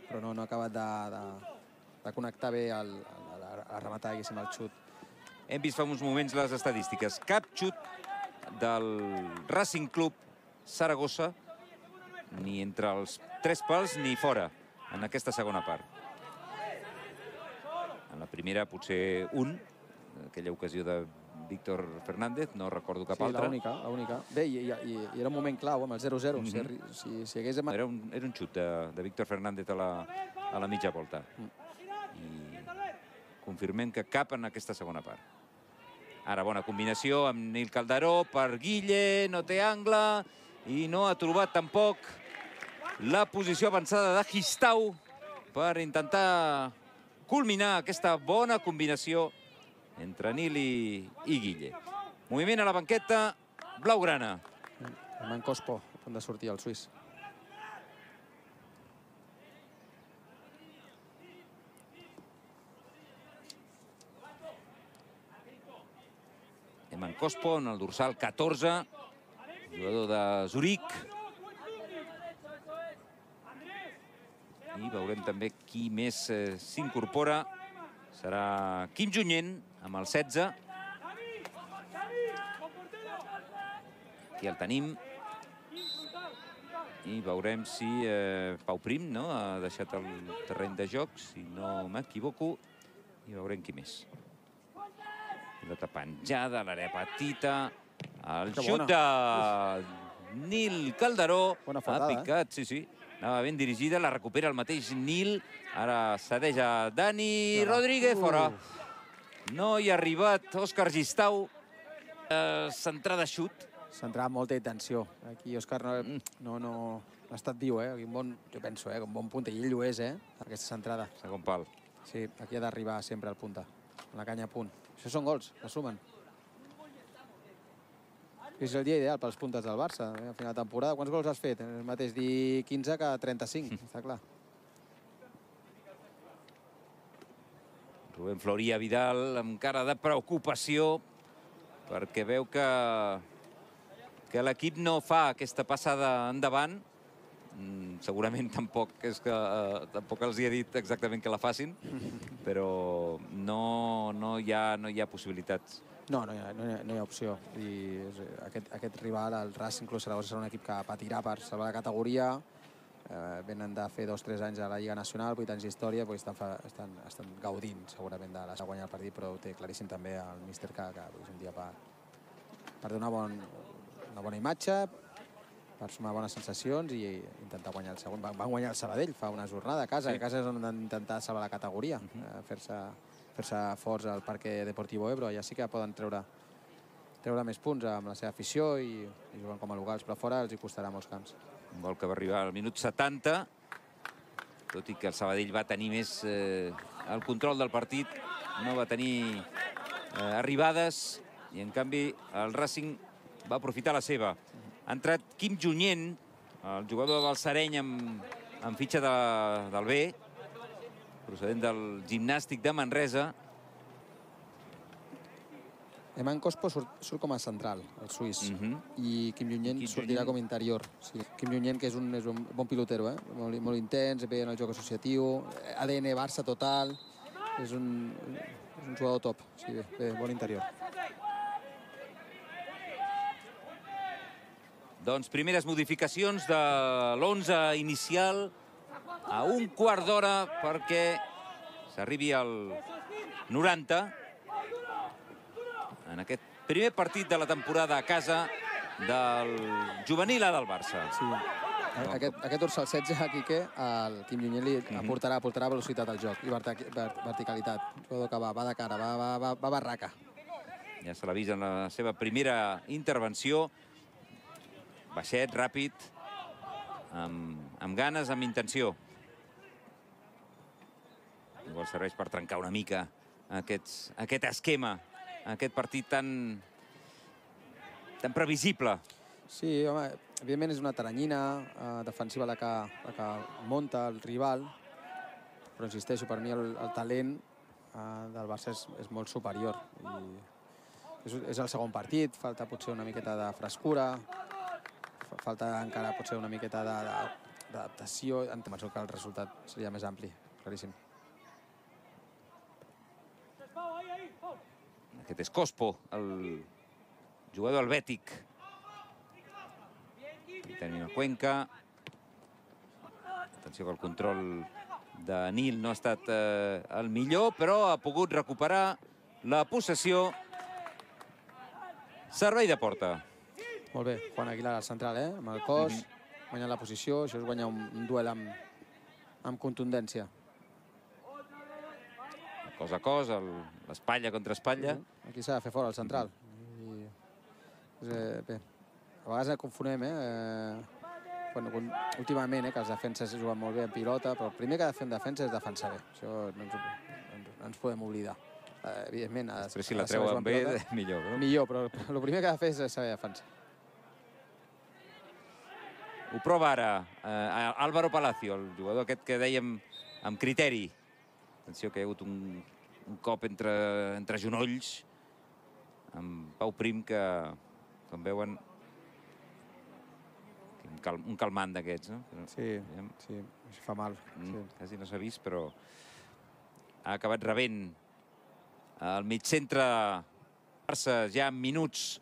però no ha acabat de connectar bé a rematar, diguéssim, el xut. Hem vist fa uns moments les estadístiques. Cap xut del Racing Club Saragossa, ni entre els tres pals ni fora, en aquesta segona part. En la primera potser un, aquella ocasió de Víctor Fernández, no recordo cap altra. Sí, l'única, l'única. Bé, i era un moment clau amb el zero a zero. Era un xut de Víctor Fernández a la mitja volta. I confirmem que cap en aquesta segona part. Ara bona combinació amb Nil Calderó per Guille, no té angle i no ha trobat tampoc la posició avançada de Gistau per intentar culminar aquesta bona combinació entre Nil i Guille. Moviment a la banqueta blaugrana. Herman Cospo, a punt de sortir el suís. Herman Cospo en el dorsal catorze, jugador de Zuric. I veurem també qui més s'incorpora. Serà Quim Junyent, amb el setze. Aquí el tenim. I veurem si eh, Pau Prim no? ha deixat el terreny de joc, si no m'equivoco, i veurem qui més. Pilota penjada, l'àrea petita, el xut de Nil Calderó, ha picat, sí, sí, anava ben dirigida, la recupera el mateix Nil, ara cedeix a Dani Rodríguez, fora. No hi ha arribat Òscar Gistau, centrada xut. Centrava molta intenció. Aquí Òscar no ha estat viu, eh? Jo penso, eh? Un bon punter, i ell ho és, eh? Aquesta centrada. Segon pal. Sí, aquí ha d'arribar sempre al punta, amb la canya a punt. Això són gols, que sumen. És el dia ideal pels puntes del Barça, a final de temporada. Quants gols has fet? El mateix dir quinze que trenta-cinc, està clar. Rubén Floria Vidal amb cara de preocupació, perquè veu que que l'equip no fa aquesta passada endavant. Segurament tampoc és que tampoc els hi he dit exactament que la facin, però no hi ha possibilitats. No, no hi ha opció. Aquest rival, el Racing Club Saragossa, serà un equip que patirà per salvar la categoria. Venen de fer dos o tres anys a la Lliga Nacional, vuit anys d'història, estan gaudint segurament de guanyar el partit, però ho té claríssim també el míster que és un dia per donar una bona imatge, per sumar bones sensacions i intentar guanyar el segon. Van guanyar el Sabadell fa una jornada a casa, a casa és on han intentat salvar la categoria, fer-se forts al Parque Deportivo Ebro. Allà sí que poden treure més punts amb la seva afició i jugant com a locals, però fora els hi costarà molts camps. Un gol que va arribar al minut setanta, tot i que el Sabadell va tenir més el control del partit, no va tenir arribades, i en canvi el Racing va aprofitar la seva. Ha entrat Quim Junyent, el jugador del Balsareny amb fitxa del B, procedent del Gimnàstic de Manresa. Eman Cospo surt com a central, el suís, i Quim Junyent sortirà com a interior. Quim Junyent, que és un bon pilotero, molt intens, bé en el joc associatiu, A D N Barça total, és un jugador top, bé, bon interior. Doncs primeres modificacions de l'onze inicial a un quart d'hora perquè s'arribi al noranta en aquest primer partit de la temporada a casa del juvenil A del Barça. Aquest dorsal setze, Quique, el Quim Junyent li aportarà velocitat al joc i verticalitat. Un jugador que va de cara, va barraca. Ja se l'ha vist en la seva primera intervenció. Baixet, ràpid, amb ganes, amb intenció. Igual serveix per trencar una mica aquest esquema, aquest partit tan previsible. Sí, home, evidentment és una taranyina defensiva la que munta el rival, però insisteixo, per mi el talent del Barça és molt superior. És el segon partit, falta potser una miqueta de frescura, falta encara potser una miqueta d'adaptació. Em penso que el resultat seria més ampli, claríssim. Aquest és Cospo, el jugador helvètic. Tenim a Cuenca. Atenció que el control de Nil no ha estat el millor, però ha pogut recuperar la possessió. Servei de porta. Molt bé, Juan Aguilar al central, eh? Amb el cos, guanyant la posició. Això és guanyar un duel amb contundència. Cos a cos, l'espatlla contra espatlla. Aquí s'ha de fer fora el central. Bé, a vegades confonem, eh? Últimament, que els defenses juguen molt bé en pilota, però el primer que ha de fer en defensa és defensar bé. Això no ens podem oblidar. Evidentment... Després si la treuen bé, millor. Millor, però el primer que ha de fer és saber defensar. Ho prova ara Álvaro Palacio, el jugador aquest que dèiem amb criteri. Atenció que hi ha hagut un cop entre genolls amb Pau Prim que, com veuen, un calmant d'aquests, no? Sí, sí, això fa mal. Quasi no s'ha vist, però ha acabat rebent el migcentre Barça ja en minuts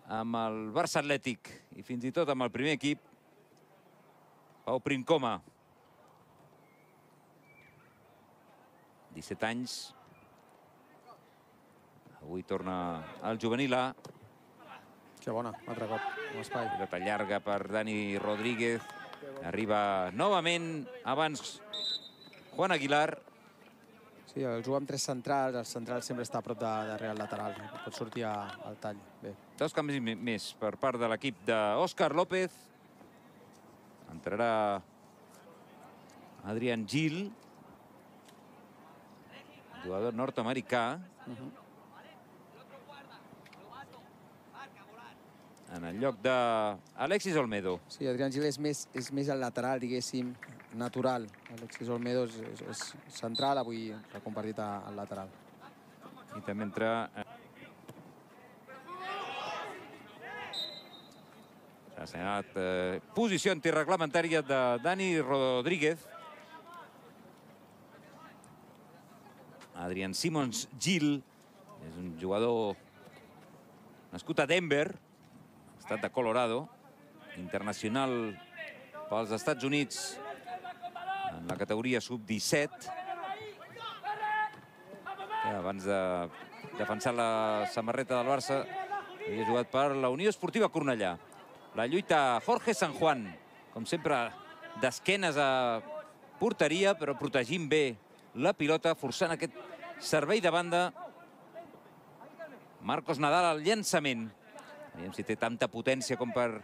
amb el Barça Atlètic i fins i tot amb el primer equip. Pau Princoma. disset anys. Avui torna al juvenil A. Que bona, altre cop, amb espai. Pilota llarga per Dani Rodríguez. Arriba novament abans Juan Aguilar. Sí, el juga amb tres centrals, el central sempre està a prop de, darrere el lateral, pot sortir a, al tall. Bé. Dos canvis més per part de l'equip d'Òscar López. Entrarà Adrian Gil, jugador nord-americà. Uh -huh. En el lloc d'Alexis Olmedo. Sí, Adrián Gil és més, és més el lateral, diguéssim, natural. Alexis Olmedo és, és, és central, avui s'ha compartit al lateral. I també entra... S'ha assenyalat eh, posició antirreglamentària de Dani Rodríguez. Adrian Simons Gil és un jugador nascut a Denver, estat de Colorado, internacional pels Estats Units en la categoria sub disset. Abans de defensar la samarreta del Barça, havia jugat per la Unió Esportiva Cornellà. La lluita Jorge San Juan, com sempre, d'esquenes a porteria, però protegint bé la pilota, forçant aquest servei de banda. Marcos Nadal al llançament. Veiem si té tanta potència com per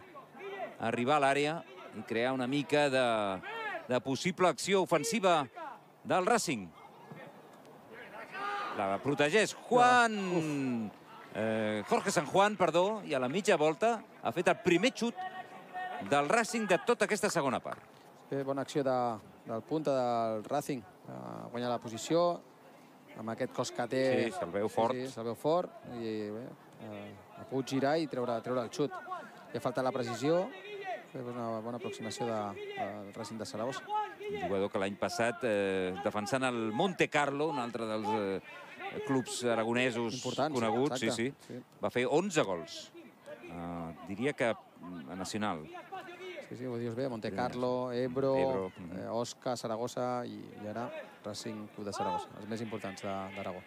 arribar a l'àrea i crear una mica de, de possible acció ofensiva del Racing. La protegeix Juan... Eh, Jorge San Juan, perdó, i a la mitja volta ha fet el primer xut del Racing de tota aquesta segona part. Bé, bona acció de, del punta del Racing. Uh, guanyar la posició amb aquest cos que té. Sí, se'l veu fort. Sí, sí, se'l veu fort i bé, uh, ha pogut girar i treure, treure el xut. Li ha faltat la precisió. És una bona aproximació de, del Racing de Saragossa. Un jugador que l'any passat, eh, defensant el Monte Carlo, un altre dels eh, clubs aragonesos importants, coneguts, sí, exacte, sí, sí. va fer onze gols. Uh, diria que a nacional. Sí, sí, ho dius bé, Monte Carlo, Ebro, Ebro. eh, Osca, Saragossa i, i ara Racing Club de Saragossa, els més importants d'Aragó.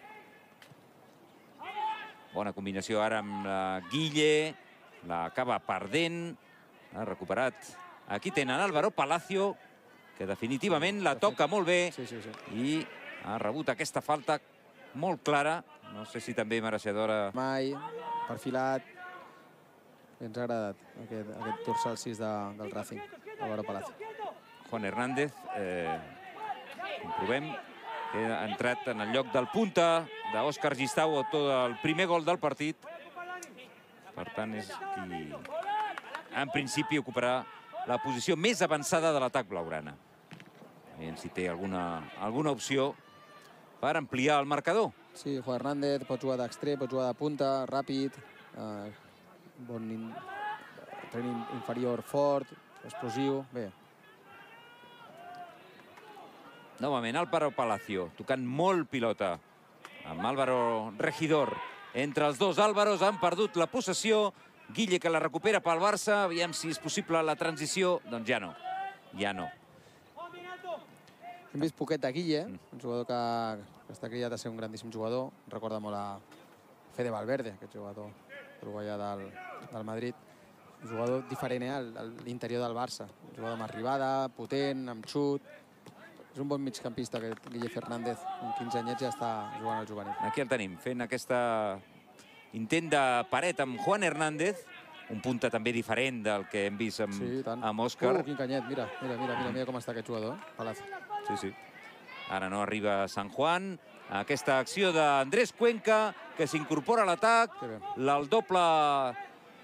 Bona combinació ara amb la Guille, l'acaba perdent, ha recuperat. Aquí tenen Álvaro Palacio, que definitivament la toca molt bé sí, sí, sí. i ha rebut aquesta falta molt clara, no sé si també mereixedora. Mai, perfilat, ens ha agradat aquest, aquest dorsal sis de, del Racing, Álvaro Palacio. Juan Hernández, eh, comprovem, que ha entrat en el lloc del punta d'Òscar Gistau, autor del primer gol del partit. Per tant, és qui en principi ocuparà la posició més avançada de l'atac blaugrana. Aviam si té alguna, alguna opció per ampliar el marcador. Sí, Juan Hernández pot jugar d'extrem, pot jugar de punta, ràpid, eh, bon in, tren inferior fort, explosiu, bé. Novament, Álvaro Palacio, tocant molt pilota amb Álvaro Regidor. Entre els dos Álvaros han perdut la possessió. Guille que la recupera pel Barça. Aviam si és possible la transició. Doncs ja no, ja no. Hem vist poquet de Guille, un jugador que, que està criat a ser un grandíssim jugador. Recorda molt a Fede Valverde, aquest jugador uruguaià del, del Madrid. Un jugador diferent eh, a l'interior del Barça. Un jugador amb arribada, potent, amb xut. És un bon migcampista, aquest Guille Fernández. Amb quinze anyets ja està jugant al juvenil. Aquí el tenim, fent aquesta intent de paret amb Juan Hernández. Un punta també diferent del que hem vist amb, sí, amb Òscar. Uh, quin canyet, mira, mira, mira, mira, mira com està aquest jugador, eh? Palacio. Sí, sí. Ara no arriba San Juan. Aquesta acció d'Andrés Cuenca, que s'incorpora a l'atac. El doble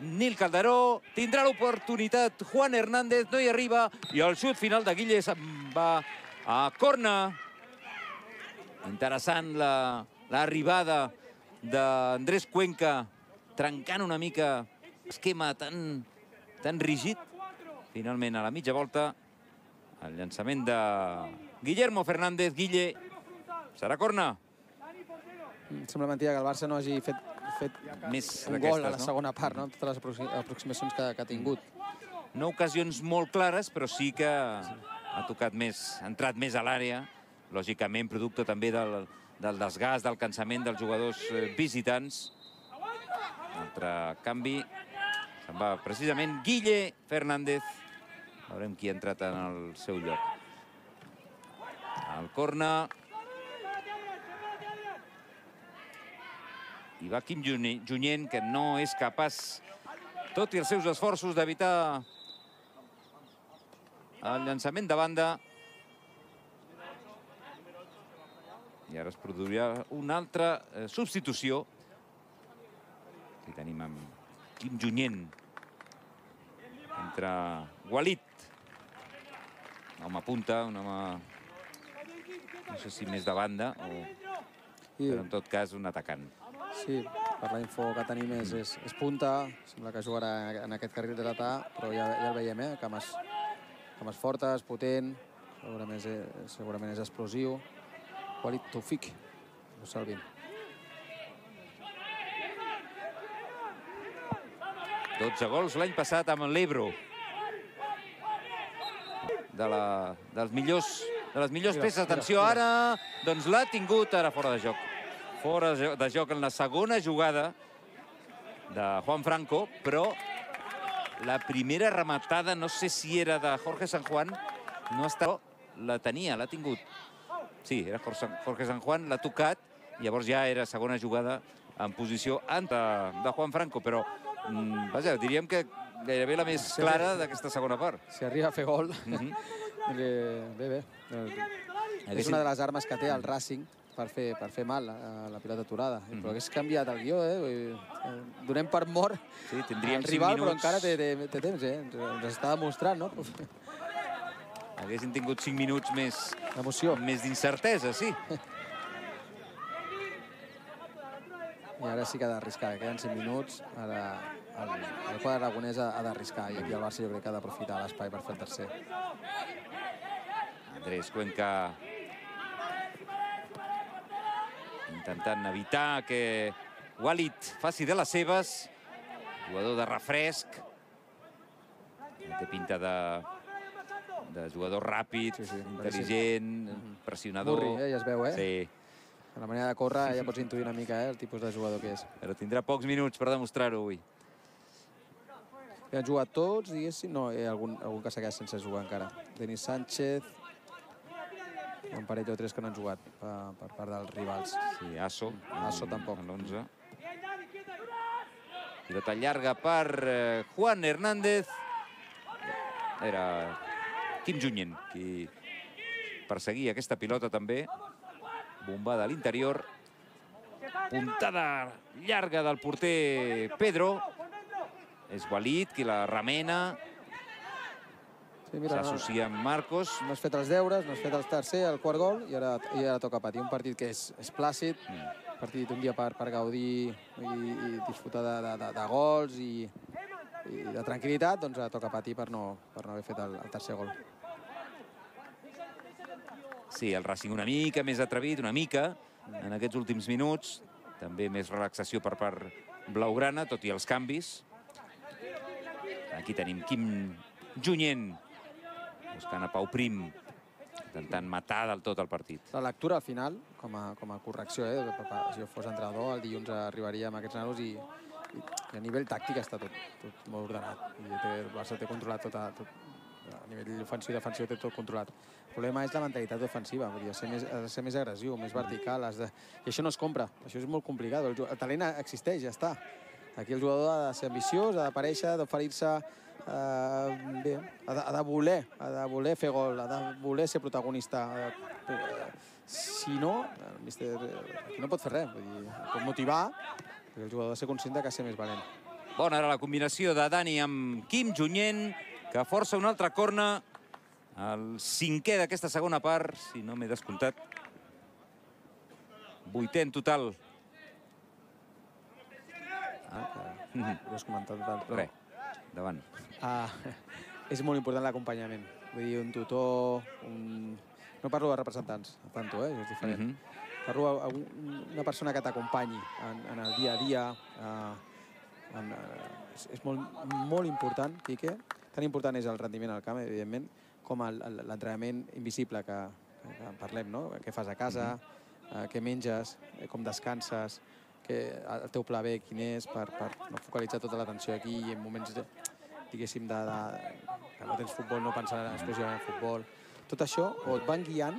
Nil Calderó. Tindrà l'oportunitat Juan Hernández, no hi arriba. I el xut final de Guille va a corna. Interessant l'arribada d'Andrés Cuenca, trencant una mica l'esquema tan, tan rígid. Finalment, a la mitja volta, el llançament de Guillermo Fernández. Guille, serà corna. Sembla mentida que el Barça no hagi fet, fet Més un gol a la segona part, no? Totes les aproximacions que, que ha tingut. no ocasions molt clares, però sí que ha tocat més, ha entrat més a l'àrea, lògicament producte també del, del desgast, del cansament dels jugadors visitants. Altre canvi, se'n va precisament Guille Fernández. Veurem qui ha entrat en el seu lloc. El corna. I va Quim Junyent, que no és capaç, tot i els seus esforços, d'evitar el llançament de banda. I ara es produirà una altra substitució. Aquí tenim amb Quim Junyent. Entra Walid. Un home punta, un home... no sé si més de banda o... però en tot cas un atacant. Sí, per la info que tenim és, és, és punta, sembla que jugarà en aquest carril de dretà, però ja, ja el veiem, eh? Cames, cames fortes, potent, segurament és, segurament és explosiu. Walid Toufik, no salvin. dotze gols l'any passat amb l'Ebro. De, la, dels millors, de les millors peces. Atenció, ara doncs l'ha tingut ara fora de joc. Fora de joc en la segona jugada de Juan Franco, però la primera rematada, no sé si era de Jorge San Juan, no està... la tenia, l'ha tingut. Sí, era Jorge San Juan, l'ha tocat, llavors ja era segona jugada en posició de, de Juan Franco, però mm, vaja, diríem que gairebé la més clara d'aquesta segona part. Si arriba a fer gol, Mm-hmm. bé, bé. És una de les armes que té el Racing per fer, per fer mal a la pilota aturada. Mm. Però hagués canviat el guió, eh? Donem per mort sí, tindríem el rival, minuts... però encara té, té, té temps, eh? Ens, ens està demostrant, no? Haguessin tingut cinc minuts més... D'emoció. Més d'incertesa, sí. I ara sí que ha d'arriscar, queden cinc minuts. Ara el, el quadre aragonès ha, ha d'arriscar i aquí el Barça jo crec que ha d'aprofitar l'espai per fer el tercer. Andrés Cuenca intentant evitar que Walid faci de les seves. Jugador de refresc. Té pinta de, de jugador ràpid, sí, sí, intel·ligent, mm-hmm. pressionador. Burri, eh? Ja es veu, eh? Sí. A la manera de córrer ja pots intuir una mica eh? El tipus de jugador que és. Però tindrà pocs minuts per demostrar-ho avui. Ja han jugat tots, diguéssim. No, hi ha algun, algun que s'ha quedat sense jugar encara. Denis Sánchez. Un parell o tres que no han jugat per, per part dels rivals. Sí, Asso. Asso tampoc. l'onze. Pilota llarga per eh, Juan Hernández. Era Quim Junyent qui perseguia aquesta pilota també. Bombada a l'interior. Puntada llarga del porter Pedro. És Walid qui la remena. Sí, s'associa amb Marcos. No has fet els deures, no has fet el tercer, el quart gol, i ara, i ara toca patir. Un partit que és, és plàcid, mm. partit un dia per, per gaudir i, i disfrutar de, de, de gols i, i de tranquil·litat, doncs ara toca patir per no, per no haver fet el, el tercer gol. Sí, el Racing una mica més atrevit, una mica, en aquests últims minuts. També més relaxació per part blaugrana, tot i els canvis. Aquí tenim Quim Junyent, buscant a Pau Prim, intentant matar del tot el partit. La lectura al final, com a, com a correcció, eh? Si jo fos entrenador, el dilluns arribaria amb aquests nanos i, i, i a nivell tàctic està tot, tot molt ordenat. I té, el Barça té controlat tot, a, tot, a nivell ofensiu i defensiu té tot controlat. El problema és la mentalitat ofensiva, vull dir, ser més, ser més agressiu, més vertical, has de... i això no es compra, això és molt complicat. El, el talent existeix, ja està. Aquí el jugador ha de ser ambiciós, ha d'aparèixer, d'oferir-se. Uh, bé, ha de, ha de voler, ha de voler fer gol, ha de voler ser protagonista. Uh, si no, el míster aquí no pot fer res, vull dir, pot motivar, perquè el jugador ha de ser conscient que ha de ser més valent. Bona ara la combinació de Dani amb Quim Junyent, que força un altre corna, el cinquè d'aquesta segona part, si no m'he descomptat. Vuitè en total. Ah, que ho has comentat total, però... Res, davant. Ah, és molt important l'acompanyament. Vull dir, un tutor... Un... No parlo de representants, tanto, eh? Això és diferent. Mm-hmm. Parlo d'una persona que t'acompanyi en, en el dia a dia. Eh, en, eh, és molt, molt important, Quique, tan important és el rendiment al camp, evidentment, com l'entrenament invisible que, que en parlem, no? Què fas a casa, eh, què menges, eh, com descanses, que el teu pla B quin és, per, per no focalitzar tota l'atenció aquí i en moments, de, diguéssim, de, de, que no tens futbol, no pensar exclusivament en futbol. Tot això o et van guiant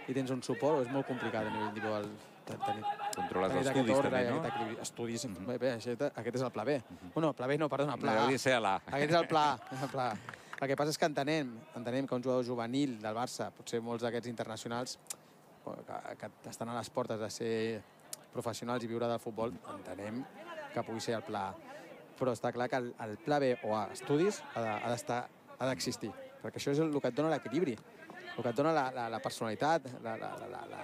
i tens un suport o és molt complicat a nivell individual tenir. Controles els estudis també, no? Estudis, bé, aquest és el pla B. Bueno, pla B no, perdona, pla A. Hauria de ser l'A. Aquest és el pla A. El que passa és que entenem, entenem que un jugador juvenil del Barça, potser molts d'aquests internacionals que, que estan a les portes de ser professionals i viure del futbol, entenem que pugui ser el pla A. Però està clar que el, el pla B o A, estudis, ha d'estar, ha d'existir, perquè això és el que et dona l'equilibri, el que et dona la, la, la personalitat, la, la, la, la,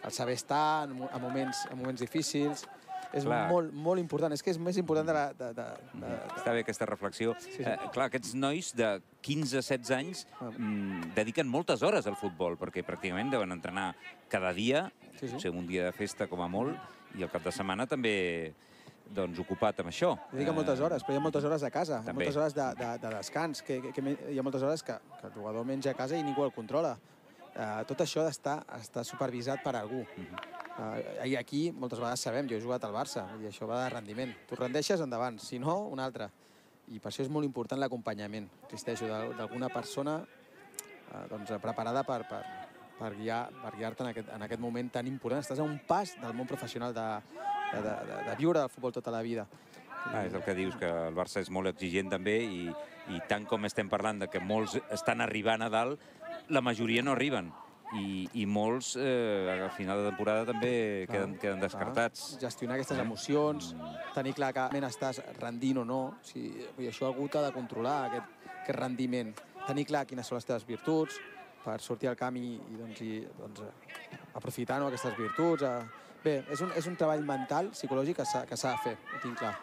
el saber estar en, en, moments, en moments difícils. És molt, molt important. És que és més important de la... De, de, de... Està bé aquesta reflexió. Sí, sí. Eh, clar, aquests nois de quinze a setze anys mm, dediquen moltes hores al futbol, perquè pràcticament deuen entrenar cada dia, sí, sí. Potser un dia de festa com a molt, i el cap de setmana també doncs, ocupat amb això. Dediquen moltes hores, però hi ha moltes hores a casa, també. Moltes hores de, de, de descans, que, que, que hi ha moltes hores que, que el jugador menja a casa i ningú el controla. Uh, tot això ha d'estar supervisat per algú. Uh-huh. Uh, I aquí moltes vegades sabem, jo he jugat al Barça, i això va de rendiment. Tu rendeixes endavant, si no, un altre. I per això és molt important l'acompanyament, insisteixo, d'alguna persona uh, doncs, preparada per, per, per guiar-te per guiar en, aquest, en aquest moment tan important. Estàs a un pas del món professional de, de, de, de viure del futbol tota la vida. Ah, és el que dius, que el Barça és molt exigent també i, i tant com estem parlant de que molts estan arribant a dalt, la majoria no arriben. I, i molts, eh, al final de temporada, també queden, queden descartats. Clar. Gestionar aquestes emocions, tenir clar que estàs rendint o no. O sigui, això algú t'ha de controlar, aquest, aquest rendiment. Tenir clar quines són les teves virtuts per sortir al camp i, i, doncs, i doncs, aprofitar no, aquestes virtuts. Bé, és un, és un treball mental, psicològic, que s'ha de fer, ho tinc clar.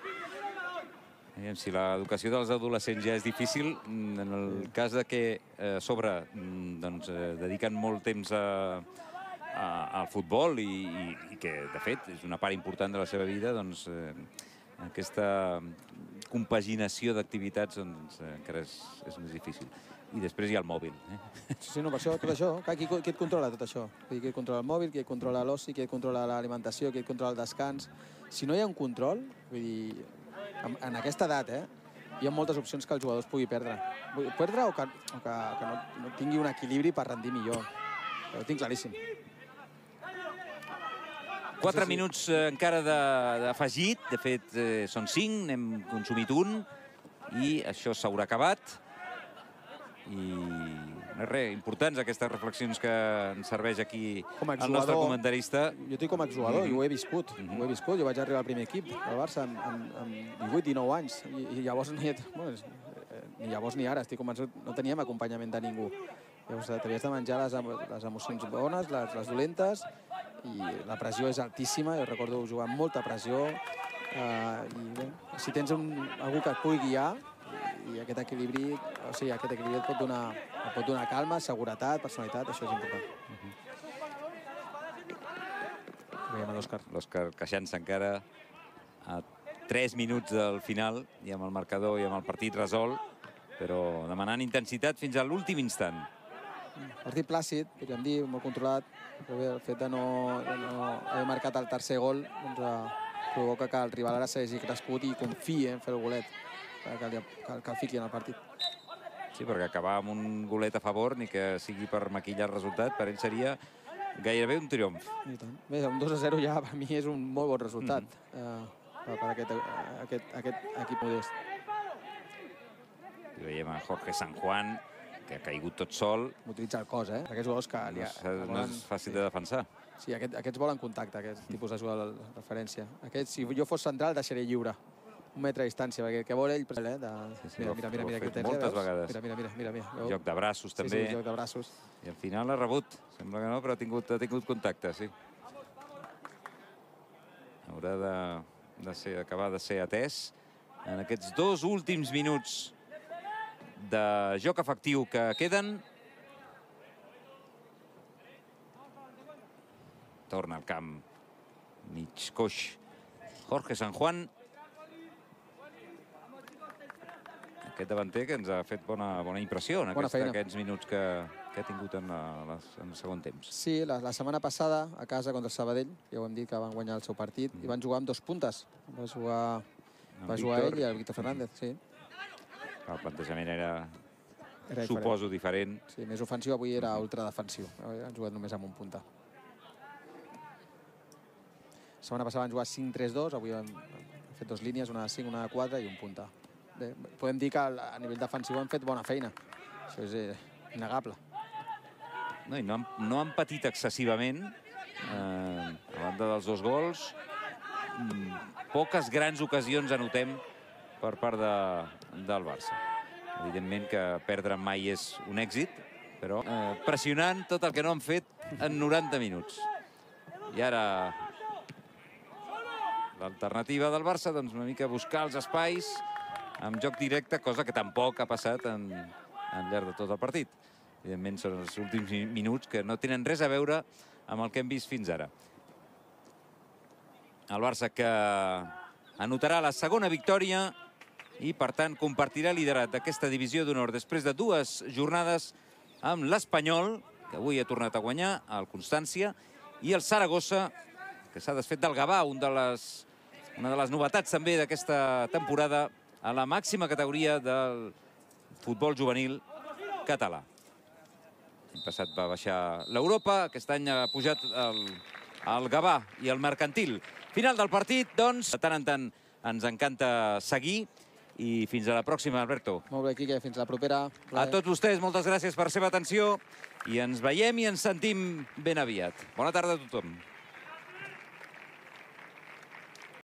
Si l'educació dels adolescents ja és difícil, en el cas de que a sobre doncs, dediquen molt temps a, a, al futbol i, i, i que, de fet, és una part important de la seva vida, doncs eh, aquesta compaginació d'activitats doncs, encara és, és més difícil. I després hi ha el mòbil. Eh? Sí, sí, no, per això, tot això. Qui, qui et controla tot això? Qui et controla el mòbil, qui et controla l'oci, qui et controla l'alimentació, qui et controla el descans. Si no hi ha un control, vull dir, en aquesta edat, eh, hi ha moltes opcions que els jugadors pugui perdre. Perdre o que, o que, que no, no tingui un equilibri per rendir millor. Ho tinc claríssim. Quatre minuts encara d'afegit. De fet, eh, són cinc, n'hem consumit un. I això s'haurà acabat. I res, importants aquestes reflexions que ens serveix aquí el nostre comentarista. Jo estic com a exjugador i ho he viscut. Ho he viscut. Jo vaig arribar al primer equip del Barça amb divuit dinou anys. I llavors ni llavors ni ara, estic convençut, no teníem acompanyament de ningú. Llavors t'havies de menjar les emocions bones, les dolentes, i la pressió és altíssima. Jo recordo jugar amb molta pressió. I si tens algú que et pugui guiar, i aquest equilibri, o sigui, aquest equilibri et pot donar, et pot donar calma, seguretat, personalitat, això és important. Veiem l'Òscar. L'Òscar queixant-se encara a tres minuts del final, i amb el marcador i amb el partit resolt, però demanant intensitat fins a l'últim instant. Partit plàcid, podríem dir, molt controlat, però bé, el fet de no haver marcat el tercer gol provoca que el rival ara s'hagi crescut i confiï en fer el golet, que el fiqui en el partit. Sí, perquè acabar amb un golet a favor, ni que sigui per maquillar el resultat, per ell seria gairebé un triomf. Bé, un dos a zero ja per mi és un molt bon resultat per aquest equip modest. I veiem a Jorge San Juan, que ha caigut tot sol. Utilitza el cos, eh? Aquests jugadors que... No és fàcil de defensar. Sí, aquests volen contacte, aquest tipus de jugador de referència. Si jo fos central, deixaré lliure. Un metre de distància, perquè què vol ell... Mira, mira, mira, mira, fet moltes vegades. Mira, mira, mira, mira. Joc de braços, també. Sí, sí, joc de braços. I al final ha rebut. Sembla que no, però ha tingut, ha tingut contacte, sí. Haurà d'acabar de ser atès en aquests dos últims minuts de joc efectiu que queden. Torna al camp mig coix Jorge San Juan. aquest davanter que ens ha fet bona, bona impressió en Bona aquest, feina. aquests minuts que, que ha tingut en, la, les, en el segon temps. Sí, la, la setmana passada, a casa contra el Sabadell, ja ho hem dit que van guanyar el seu partit, i van jugar amb dos puntes. Va jugar, va jugar Víctor. ell i el Víctor Fernández, sí. El plantejament era, Era diferent. suposo, diferent. Sí, més ofensiu, avui era ultradefensiu. Han jugat només amb un punta. La setmana passada van jugar cinc tres dos, avui han fet dues línies, una de cinc, una de quatre i un punta. Bé, podem dir que a nivell defensiu han fet bona feina. Això és eh, innegable. No, i no han, no han patit excessivament eh, a banda dels dos gols. Mm, poques grans ocasions anotem per part de, del Barça. Evidentment que perdre mai és un èxit, però eh, pressionant tot el que no han fet en noranta minuts. I ara l'alternativa del Barça, doncs una mica buscar els espais amb joc directe, cosa que tampoc ha passat en, en llarg de tot el partit. Evidentment són els últims minuts que no tenen res a veure amb el que hem vist fins ara. El Barça que anotarà la segona victòria i, per tant, compartirà liderat d'aquesta divisió d'honor després de dues jornades amb l'Espanyol, que avui ha tornat a guanyar, el Constància, i el Saragossa, que s'ha desfet del Gavà, un de les, una de les novetats també d'aquesta temporada a la màxima categoria del futbol juvenil català. L'any passat va baixar l'Europa, aquest any ha pujat el, el Gavà i el Mercantil. Final del partit, doncs, de tant en tant ens encanta seguir. I fins a la pròxima, Alberto. Molt bé, Quique, fins la propera. A tots vostès, moltes gràcies per la seva atenció i ens veiem i ens sentim ben aviat. Bona tarda a tothom.